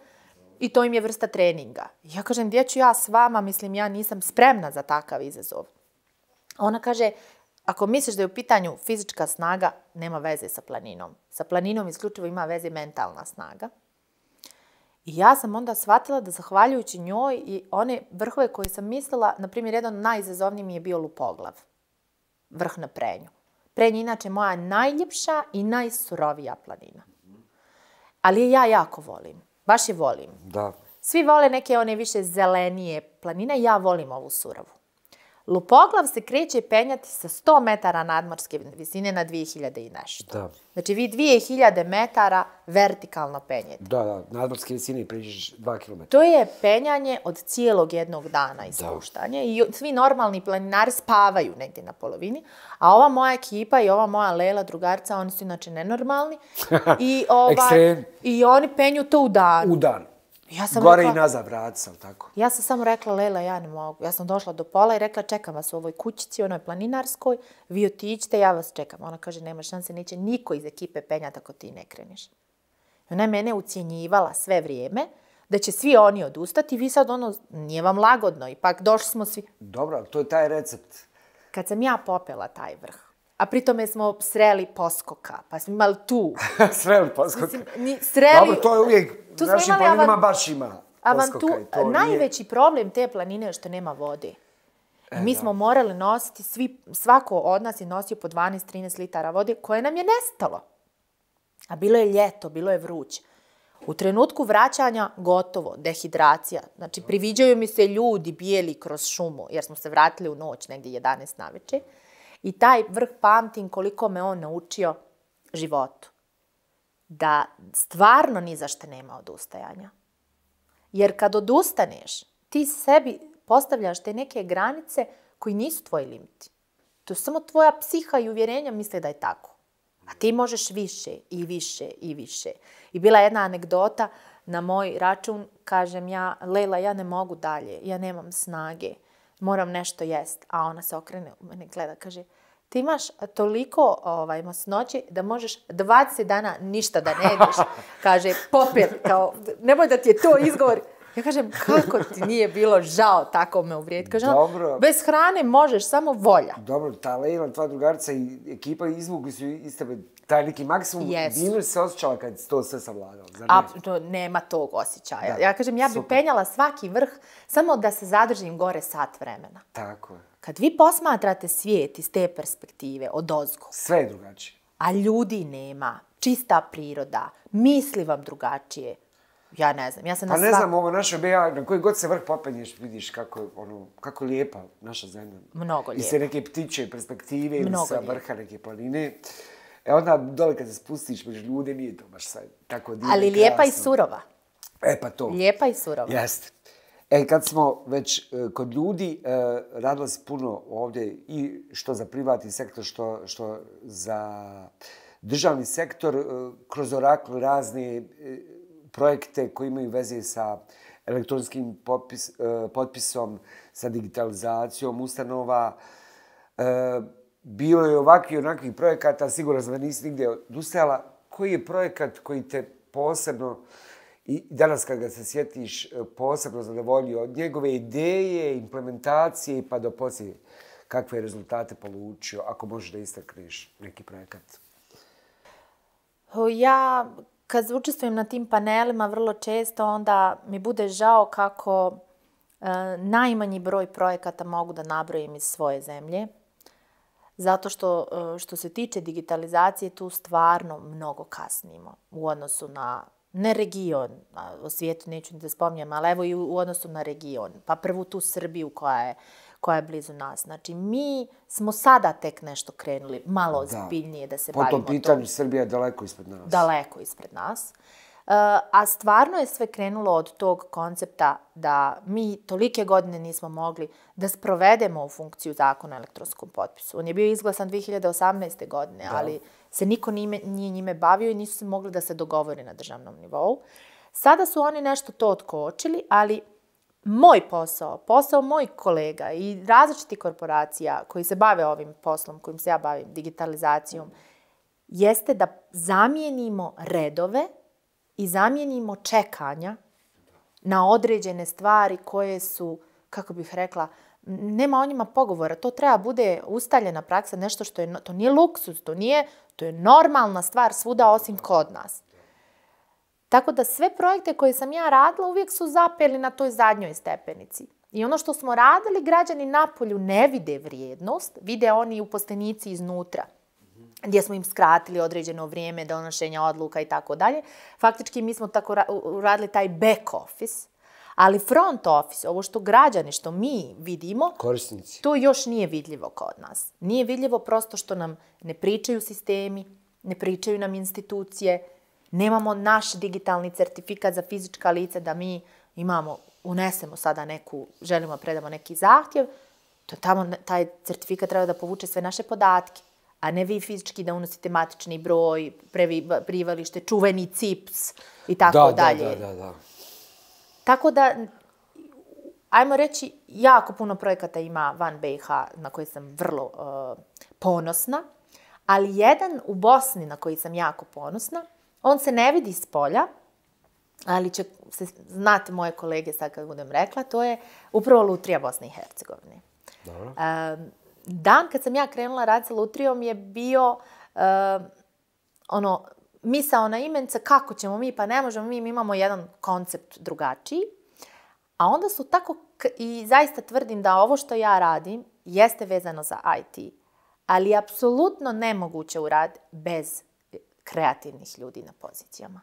I to im je vrsta treninga. I ja kažem, gdje ću ja s vama, mislim, ja nisam spremna za takav izazov. A ona kaže, ako misliš da je u pitanju fizička snaga, nema veze sa planinom. Sa planinom isključivo ima veze mentalna snaga. I ja sam onda shvatila da zahvaljujući njoj i one vrhove koje sam mislila, na primjer, jedan najizazovniji mi je bio Lupoglav. Vrh na Prenju. Prenj je inače moja najljepša i najsurovija planina. Ali je ja jako volim. Baš je volim. Da. Svi vole neke one više zelenije planine, ja volim ovu surovu. Lupoglav se kreće penjati sa sto metara nadmorske visine na dvije hiljade i nešto. Da. Znači vi dvije hiljade metara vertikalno penjete. Da, da, nadmorske visine priđeš dva kilometra. To je penjanje od cijelog jednog dana i spuštanje. I svi normalni planinari spavaju negdje na polovini, a ova moja ekipa i ova moja Lela, drugarica, oni su inače nenormalni. I, ovaj, i oni penju to u dan. U dan. Ja sam Gore rekla, i nazad vrat sam, tako. Ja sam samo rekla, Lela, ja ne mogu. Ja sam došla do pola i rekla, čekam vas u ovoj kućici, onoj planinarskoj, vi otiđite, ja vas čekam. Ona kaže, nema šanse, neće niko iz ekipe penjati ako ti ne kreneš. Ona je mene ucjenjivala sve vrijeme, da će svi oni odustati, vi sad ono, nije vam lagodno, ipak došli smo svi. Dobro, to je taj recept. Kad sam ja popela taj vrh, a pritome smo sreli poskoka, pa smo imali tu. Sreli poskoka. Mislim, ni, sreli... Dobro, to je uvijek, tu našim planinama avan... baš ima poskoka. I to najveći nije... problem te planine je što nema vode. I mi smo morali nositi, svi, svako od nas je nosio po dvanaest do trinaest litara vode koje nam je nestalo. A bilo je ljeto, bilo je vruće. U trenutku vraćanja gotovo, dehidracija. Znači, priviđaju mi se ljudi bijeli kroz šumu, jer smo se vratili u noć, negdje jedanaest naveče. I taj vrh pamtim koliko me on naučio životu. Da stvarno ni za što nema odustajanja. Jer kad odustaneš, ti sebi postavljaš te neke granice koji nisu tvoji limiti. To je samo tvoja psiha i uvjerenja misle da je tako. A ti možeš više i više i više. I bila jedna anegdota na moj račun, kažem ja, Lejla, ja ne mogu dalje, ja nemam snage, moram nešto jest. A ona se okrene u mene, gleda, kaže, ti imaš toliko ovaj, masnoće da možeš dvadeset dana ništa da ne jedeš. Kaže, popel, kao, nemoj da ti je to izgovor. Ja kažem, kako ti nije bilo žao tako me uvrijediti? Kaže, Dobro. Bez hrane možeš, samo volja. Dobro, ta Lejla, tvoja drugarica i ekipa izvukli su iz tebe taj neki maksimum. Yes. Divno se osjećala kad si to sve savladala. A, to, nema tog osjećaja. Da. Ja kažem, ja bi Super. penjala svaki vrh samo da se zadržim gore sat vremena. Tako je. Kad vi posmatrate svijet iz te perspektive, odozgo. Sve je drugačije. A ljudi nema, čista priroda, misli vam drugačije. Ja ne znam, ja sam pa na ne svak... znam, ovo naše B A, na koji god se vrh popenješ, vidiš kako, ono, kako lijepa naša zemlja. Mnogo lijepa. I se neke ptiče perspektive ili sa lijepa. vrha neke planine. E onda dole kad se spustiš među ljude, nije to baš sad tako divno. Ali lijepa i surova. E pa to. Lijepa i surova. Jeste. E, kad smo već uh, kod ljudi, uh, radila si puno ovdje i što za privatni sektor, što, što za državni sektor, uh, kroz Oracle razne uh, projekte koji imaju veze sa elektronskim popis, uh, potpisom, sa digitalizacijom ustanova. Uh, bilo je ovakvih i onakvih projekata, sigurno sam da nisi nigdje odustajala. Koji je projekat koji te posebno, i danas kad ga se sjetiš, posebno zadovoljio od njegove ideje, implementacije pa do poslije kakve rezultate polučio, ako možeš da istakneš neki projekat? Ja, kad učestvujem na tim panelima, vrlo često onda mi bude žao kako e, najmanji broj projekata mogu da nabrojim iz svoje zemlje. Zato što, što se tiče digitalizacije, tu stvarno mnogo kasnimo u odnosu na, ne region, o svijetu neću ni da spominjem, ali evo i u odnosu na region. Pa prvu tu Srbiju koja je, koja je blizu nas. Znači, mi smo sada tek nešto krenuli, malo ozbiljnije da, da se po bavimo. Po tom pitanju Srbija je daleko ispred nas. Daleko ispred nas. Uh, a stvarno je sve krenulo od tog koncepta da mi tolike godine nismo mogli da sprovedemo u funkciju zakona o elektronskom potpisu. On je bio izglasan dvije hiljade osamnaeste. godine, da. ali se niko nije, nije njime bavio i nisu se mogli da se dogovori na državnom nivou. Sada su oni nešto to otkočili, ali moj posao, posao mojih kolega i različitih korporacija koji se bave ovim poslom, kojim se ja bavim, digitalizacijom, jeste da zamijenimo redove i zamijenimo čekanja na određene stvari koje su, kako bih rekla, nema o njima pogovora. To treba bude ustaljena praksa, nešto što je, to nije luksuz, to nije, to je normalna stvar svuda osim kod nas. Tako da sve projekte koje sam ja radila uvijek su zapeli na toj zadnjoj stepenici. I ono što smo radili, građani napolju ne vide vrijednost, vide oni uposlenici iznutra, gdje smo im skratili određeno vrijeme donošenja odluka i tako dalje. Faktički mi smo tako radili taj back office, ali front office, ovo što građani, što mi vidimo, korisnici, to još nije vidljivo kod nas. Nije vidljivo prosto što nam ne pričaju sistemi, ne pričaju nam institucije, nemamo naš digitalni certifikat za fizička lica da mi imamo, unesemo sada neku, želimo predamo neki zahtjev, to tamo taj certifikat treba da povuče sve naše podatke. A ne vi fizički da unosite matični broj, prebivalište, čuveni C I P S i tako dalje. Da, da, da, da. Tako da, ajmo reći, jako puno projekata ima van B i H na koji sam vrlo uh, ponosna, ali jedan u Bosni na koji sam jako ponosna, on se ne vidi s polja, ali će se znate moje kolege sad kad budem rekla, to je upravo Lutrija Bosne i Hercegovine. Dobro. Uh, Dan kad sam ja krenula raditi sa Lutrijom je bio uh, ono, misaona imenica kako ćemo mi, pa ne možemo mi, mi imamo jedan koncept drugačiji. A onda su tako i zaista tvrdim da ovo što ja radim jeste vezano za I T, ali je apsolutno nemoguće uraditi bez kreativnih ljudi na pozicijama.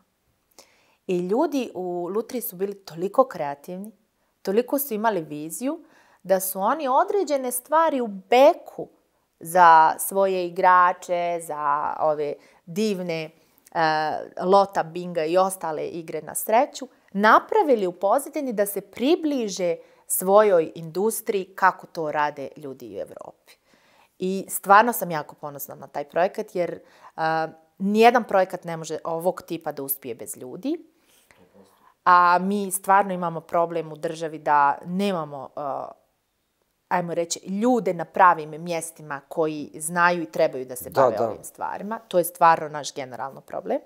I ljudi u Lutriji su bili toliko kreativni, toliko su imali viziju, da su oni određene stvari u beku za svoje igrače, za ove divne uh, lota, binga i ostale igre na sreću, napravili u pozadini da se približe svojoj industriji kako to rade ljudi u Evropi. I stvarno sam jako ponosna na taj projekat, jer uh, nijedan projekat ne može ovog tipa da uspije bez ljudi. A mi stvarno imamo problem u državi da nemamo, uh, ajmo reći, ljude na pravim mjestima koji znaju i trebaju da se da, bave da. ovim stvarima. To je stvarno naš generalno problem.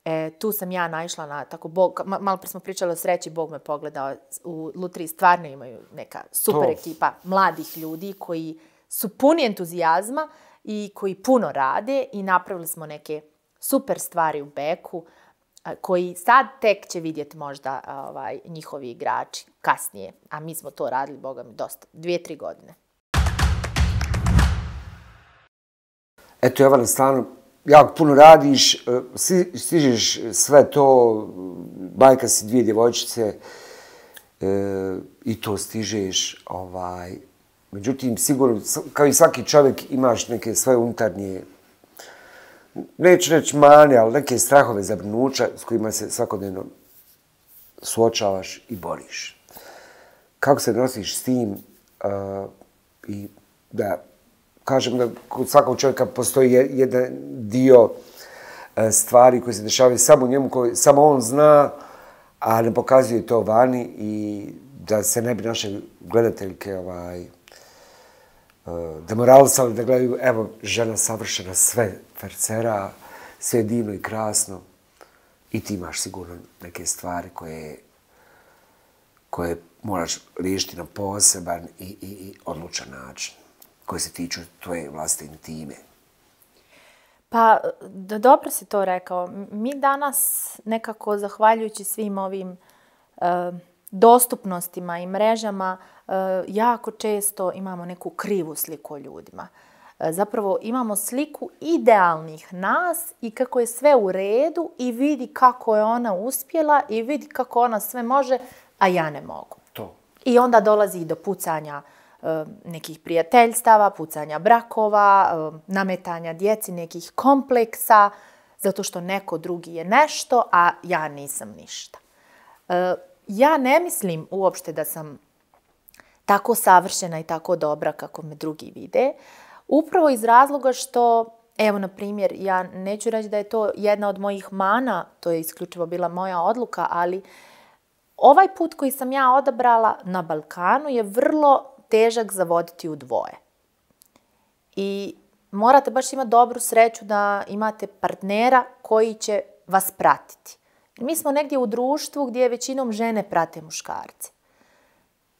E, tu sam ja naišla na tako, Bog, malo pre smo pričali o sreći, Bog me pogledao. U Lutriji stvarno imaju neka super to. ekipa mladih ljudi koji su puni entuzijazma i koji puno rade i napravili smo neke super stvari u beku koji sad tek će vidjeti možda ovaj, njihovi igrači kasnije. A mi smo to radili, boga mi, dosta. Dvije, tri godine. Eto, Jovana, stvarno, jako puno radiš, stižeš sve to, majka si dvije djevojčice e, i to stižeš. Ovaj. Međutim, sigurno, kao i svaki čovjek, imaš neke svoje unutarnje, neću reći mane, ali neke strahove, zabrinuća s kojima se svakodnevno suočavaš i boriš. Kako se nosiš s tim uh, i da kažem da kod svakog čovjeka postoji jedan dio uh, stvari koje se dešavaju samo njemu, koje samo on zna, a ne pokazuje to vani i da se ne bi naše gledateljke ovaj, demoralisali da gledaju, evo, žena savršena, sve fercera, sve divno i krasno. I ti imaš sigurno neke stvari koje, koje moraš riješiti na poseban i, i, i odlučan način, koje se tiču tvoje vlastne intime. Pa, dobro si to rekao. Mi danas nekako, zahvaljujući svim ovim uh, dostupnostima i mrežama, jako često imamo neku krivu sliku o ljudima. Zapravo imamo sliku idealnih nas i kako je sve u redu i vidi kako je ona uspjela i vidi kako ona sve može, a ja ne mogu. To. I onda dolazi i do pucanja nekih prijateljstava, pucanja brakova, nametanja djeci nekih kompleksa, zato što neko drugi je nešto, a ja nisam ništa. Ja ne mislim uopšte da sam tako savršena i tako dobra kako me drugi vide. Upravo iz razloga što, evo na primjer, ja neću reći da je to jedna od mojih mana, to je isključivo bila moja odluka, ali ovaj put koji sam ja odabrala na Balkanu je vrlo težak za voditi u dvoje. I morate baš imati dobru sreću da imate partnera koji će vas pratiti. Mi smo negdje u društvu gdje većinom žene prate muškarce.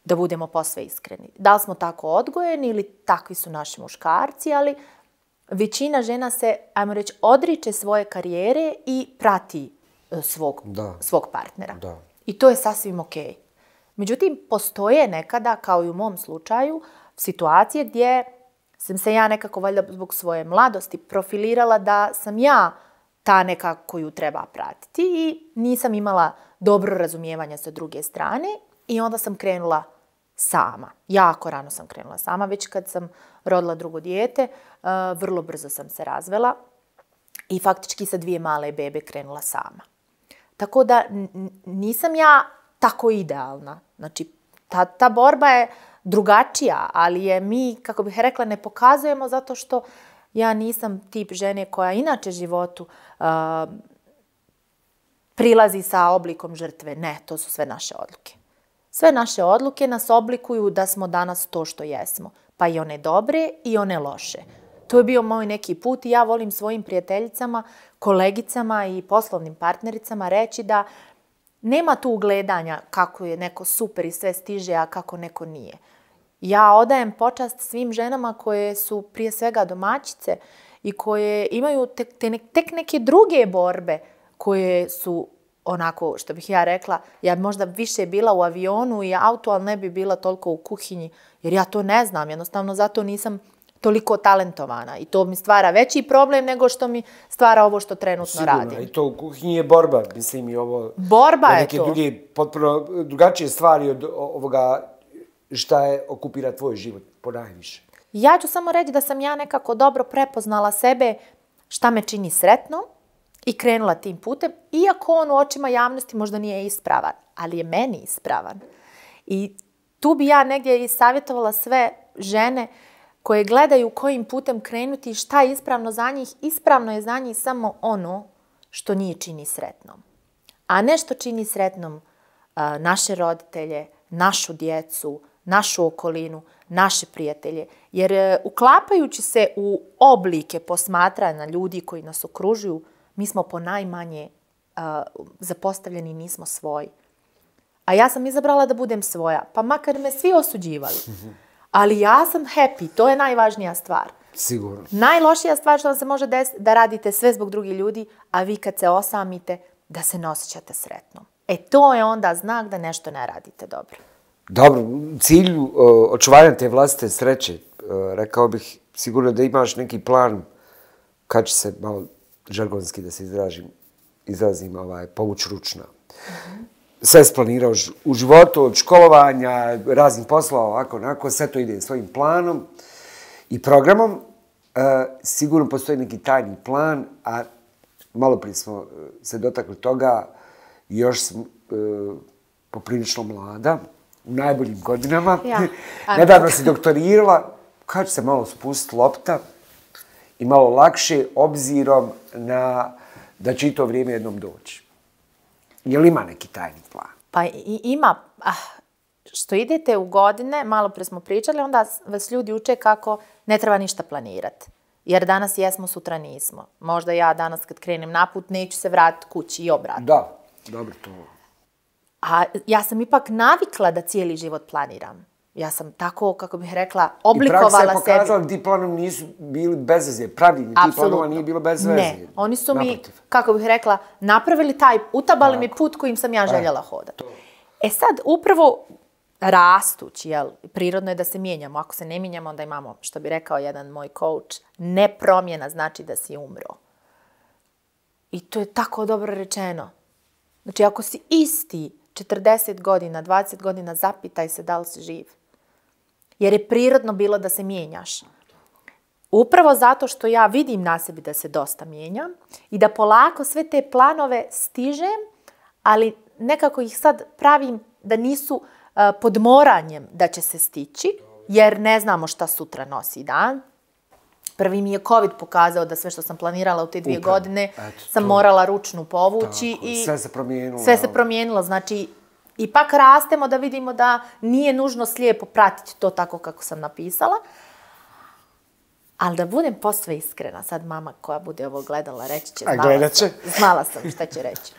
Da budemo posve iskreni. Da li smo tako odgojeni ili takvi su naši muškarci, ali većina žena se, ajmo reći, odriče svoje karijere i prati svog, svog partnera. Da. I to je sasvim okej. Okay. Međutim, postoje nekada, kao i u mom slučaju, situacije gdje sam se ja nekako, valjda zbog svoje mladosti, profilirala da sam ja ta neka koju treba pratiti i nisam imala dobro razumijevanja sa druge strane i onda sam krenula sama. Jako rano sam krenula sama, već kad sam rodila drugo dijete, vrlo brzo sam se razvela i faktički sa dvije male bebe krenula sama. Tako da nisam ja tako idealna. Znači, ta, ta borba je drugačija, ali je mi, kako bih rekla, ne pokazujemo zato što ja nisam tip žene koja inače životu uh, prilazi sa oblikom žrtve. Ne, to su sve naše odluke. Sve naše odluke nas oblikuju da smo danas to što jesmo. Pa i one dobre i one loše. To je bio moj neki put i ja volim svojim prijateljicama, kolegicama i poslovnim partnericama reći da nema tu ugledanja kako je neko super i sve stiže, a kako neko nije. Ja odajem počast svim ženama koje su prije svega domaćice i koje imaju tek, tek neke druge borbe koje su onako, što bih ja rekla, ja možda više bila u avionu i autu, ali ne bi bila toliko u kuhinji, jer ja to ne znam, jednostavno zato nisam toliko talentovana i to mi stvara veći problem nego što mi stvara ovo što trenutno Sigurno, radim. Sigurno, i to u kuhinji je borba, mislim i ovo... Borba je neke to. Druge, potpuno drugačije stvari od ovoga šta je okupira tvoj život, ponajviše. Ja ću samo reći da sam ja nekako dobro prepoznala sebe šta me čini sretnom i krenula tim putem, iako on u očima javnosti možda nije ispravan, ali je meni ispravan. I tu bi ja negdje i savjetovala sve žene koje gledaju kojim putem krenuti i šta je ispravno za njih. Ispravno je za njih samo ono što njih čini sretnom. A ne što čini sretnom a, naše roditelje, našu djecu, našu okolinu, naše prijatelje. Jer e, uklapajući se u oblike posmatranja ljudi koji nas okružuju, mi smo ponajmanje a, zapostavljeni, nismo svoji. A ja sam izabrala da budem svoja, pa makar me svi osuđivali. Ali ja sam happy, to je najvažnija stvar. Sigurno. Najlošija stvar što vam se može desiti da radite sve zbog drugih ljudi, a vi kad se osamite, da se ne osjećate sretnom. E to je onda znak da nešto ne radite dobro. Dobro, u cilju uh, očuvanja te vlastite sreće, uh, rekao bih sigurno da imaš neki plan kad će se malo žargonski da se izražim, izrazim ovaj, povući ručna. Mm-hmm. Sve splanirao u životu, od školovanja, raznih poslova, ovako, onako, sve to ide svojim planom i programom. E, sigurno postoji neki tajni plan, a malo prije smo se dotakli toga, još sam e, poprilično mlada, u najboljim godinama. Ja. Nedavno si doktorirala, kad će se malo spustiti lopta i malo lakše, obzirom na da će i to vrijeme jednom doći. Je li ima neki tajni plan? Pa i, ima. Ah, što idete u godine, malo pre smo pričali, onda vas ljudi uče kako ne treba ništa planirati. Jer danas jesmo, sutra nismo. Možda ja danas kad krenem naput neću se vratiti kući i obratno. Da, dobro to. A ja sam ipak navikla da cijeli život planiram. Ja sam tako, kako bih rekla, oblikovala sebi. I praksa je pokazala da ti planovi nisu bili bez veze. Pravilni ti planova nije bilo bez veze. Ne, oni su mi, naprotiv, kako bih rekla, napravili taj, utabali tako mi put kojim sam ja željela hodati. E sad, upravo rastući, jel, prirodno je da se mijenjamo. Ako se ne mijenjamo, onda imamo, što bi rekao jedan moj coach, ne promjena znači da si umro. I to je tako dobro rečeno. Znači, ako si isti četrdeset godina, dvadeset godina, zapitaj se da li si živ. Jer je prirodno bilo da se mijenjaš. Upravo zato što ja vidim na sebi da se dosta mijenjam i da polako sve te planove stižem, ali nekako ih sad pravim da nisu uh, pod moranjem da će se stići, jer ne znamo šta sutra nosi dan. Prvi mi je COVID pokazao da sve što sam planirala u te dvije Upravo. godine Eto, sam to... morala ručnu povući. Tako, i sve se promijenilo. Sve se promijenilo, znači ipak rastemo da vidimo da nije nužno slijepo pratiti to tako kako sam napisala. Ali da budem posve iskrena, sad mama koja bude ovo gledala reći će, znala sam, znala sam šta će reći.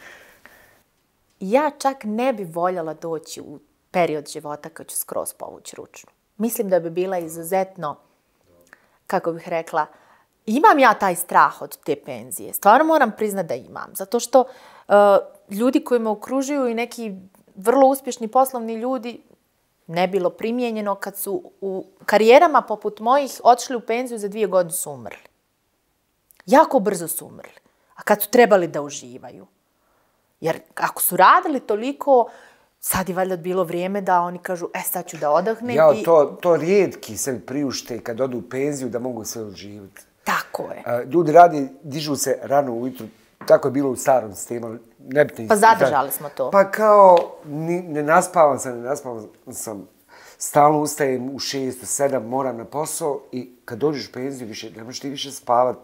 Ja čak ne bi voljela doći u period života kad ću skroz povući ručnu. Mislim da bi bila izuzetno, kako bih rekla, imam ja taj strah od te penzije. Stvarno moram priznati da imam. Zato što uh, ljudi koji me okružuju i neki vrlo uspješni poslovni ljudi, ne bilo primijenjeno kad su u karijerama poput mojih otišli u penziju za dvije godine su umrli. Jako brzo su umrli. A kad su trebali da uživaju. Jer ako su radili toliko, sad je valjda bilo vrijeme da oni kažu, e sad ću da odahnem. Ja, i... to, to rijetki se priušte kad odu u penziju da mogu sve uživati. Tako je. Ljudi radi, dižu se rano ujutru, tako je bilo u starom sistemu. Nebitno, pa zadržali smo to. Pa kao, ni, ne naspavam sam, ne naspavam sam. Stalno ustajem u šest, u sedam, moram na posao i kad dođeš u penziju, više, ne možeš ti više spavat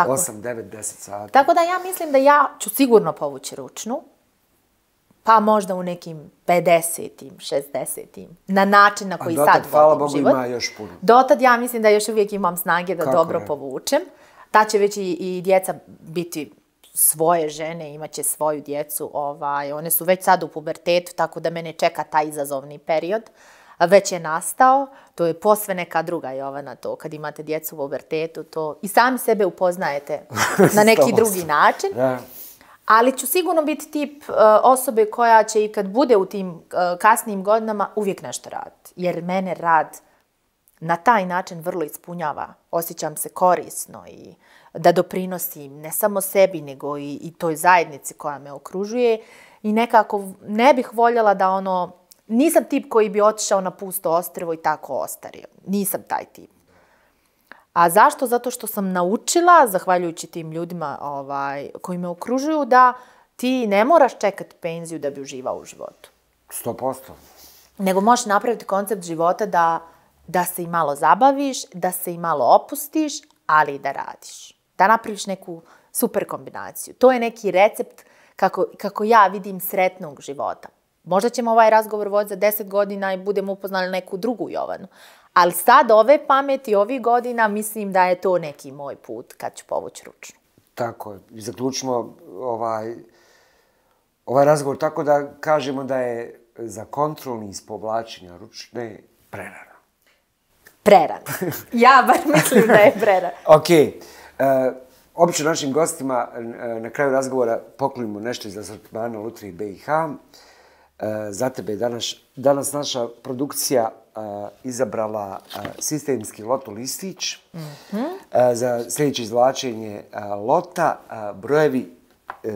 osam, devet, deset sati. Tako da ja mislim da ja ću sigurno povući ručnu, pa možda u nekim pedesetim, šezdesetim, na način na koji sad vodim život. A dotad, hvala Bogu, ima još puno. Dotad ja mislim da još uvijek imam snage da Kako dobro ne? povučem. Ta će već i, i djeca biti svoje žene, imaće svoju djecu. Ovaj, one su već sad u pubertetu, tako da mene čeka taj izazovni period. Već je nastao, to je posve neka druga Jovana to, kad imate djecu u pubertetu, to i sami sebe upoznajete na neki drugi način. Ali ću sigurno biti tip uh, osobe koja će i kad bude u tim uh, kasnijim godinama uvijek nešto raditi. Jer mene rad na taj način vrlo ispunjava. Osjećam se korisno i da doprinosim ne samo sebi, nego i, i toj zajednici koja me okružuje. I nekako ne bih voljela da ono... Nisam tip koji bi otišao na pusto ostrvo i tako ostario. Nisam taj tip. A zašto? Zato što sam naučila, zahvaljujući tim ljudima ovaj, koji me okružuju, da ti ne moraš čekati penziju da bi uživao u životu. Sto posto. Nego možeš napraviti koncept života da, da se i malo zabaviš, da se i malo opustiš, ali i da radiš. Da napraviš neku super kombinaciju. To je neki recept kako, kako ja vidim sretnog života. Možda ćemo ovaj razgovor voditi za deset godina i budemo upoznali neku drugu Jovanu. Ali sad ove pameti, ovih godina, mislim da je to neki moj put kad ću povući ručnu. Tako je. I zaključimo ovaj, ovaj razgovor tako da kažemo da je za kontrolni iz povlačenja ručne prerano. Prerano. Ja bar mislim da je prerano. Ok. Uh, obično našim gostima uh, na kraju razgovora poklonimo nešto iz asortimana Lutrije B i H. Uh, za tebe je danas, danas naša produkcija uh, izabrala uh, sistemski loto listić mm-hmm. uh, za sljedeće izvlačenje uh, lota. Uh, brojevi, uh,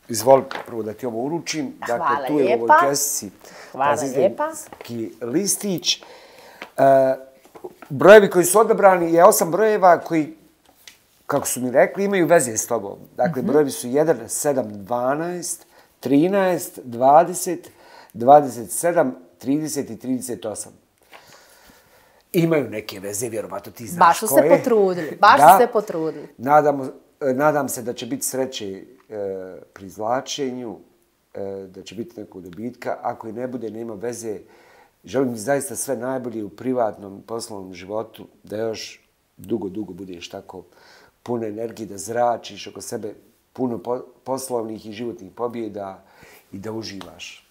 izvoli prvo da ti ovo uručim. Hvala dakle, tu je lijepa. u ovoj kesici Hvala lijepa. Sistemski listić. Uh, brojevi koji su odabrani je osam brojeva koji, kako su mi rekli, imaju veze s tobom. Dakle, mm-hmm. brojevi su jedan, sedam, dvanaest, trinaest, dvadeset, dvadeset sedam, trideset i trideset osam. Imaju neke veze, vjerovatno ti znaš baš su koje. se potrudili, baš da, su se potrudili. Nadam, nadam se da će biti sreće e, pri izvlačenju, e, da će biti nekog dobitka. Ako i ne bude, nema veze. Želim ti zaista sve najbolje u privatnom poslovnom životu, da još dugo, dugo budeš tako puno energije, da zračiš oko sebe puno po, poslovnih i životnih pobjeda i da uživaš.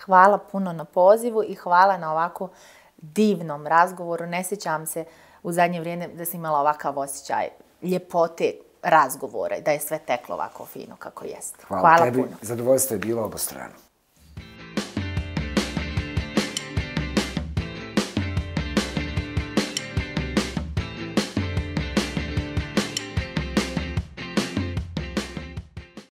Hvala puno na pozivu i hvala na ovako divnom razgovoru. Ne sjećam se u zadnje vrijeme da sam imala ovakav osjećaj ljepote razgovore, da je sve teklo ovako fino kako jeste. Hvala, hvala tebi. Puno. Zadovoljstvo je bilo obostrano.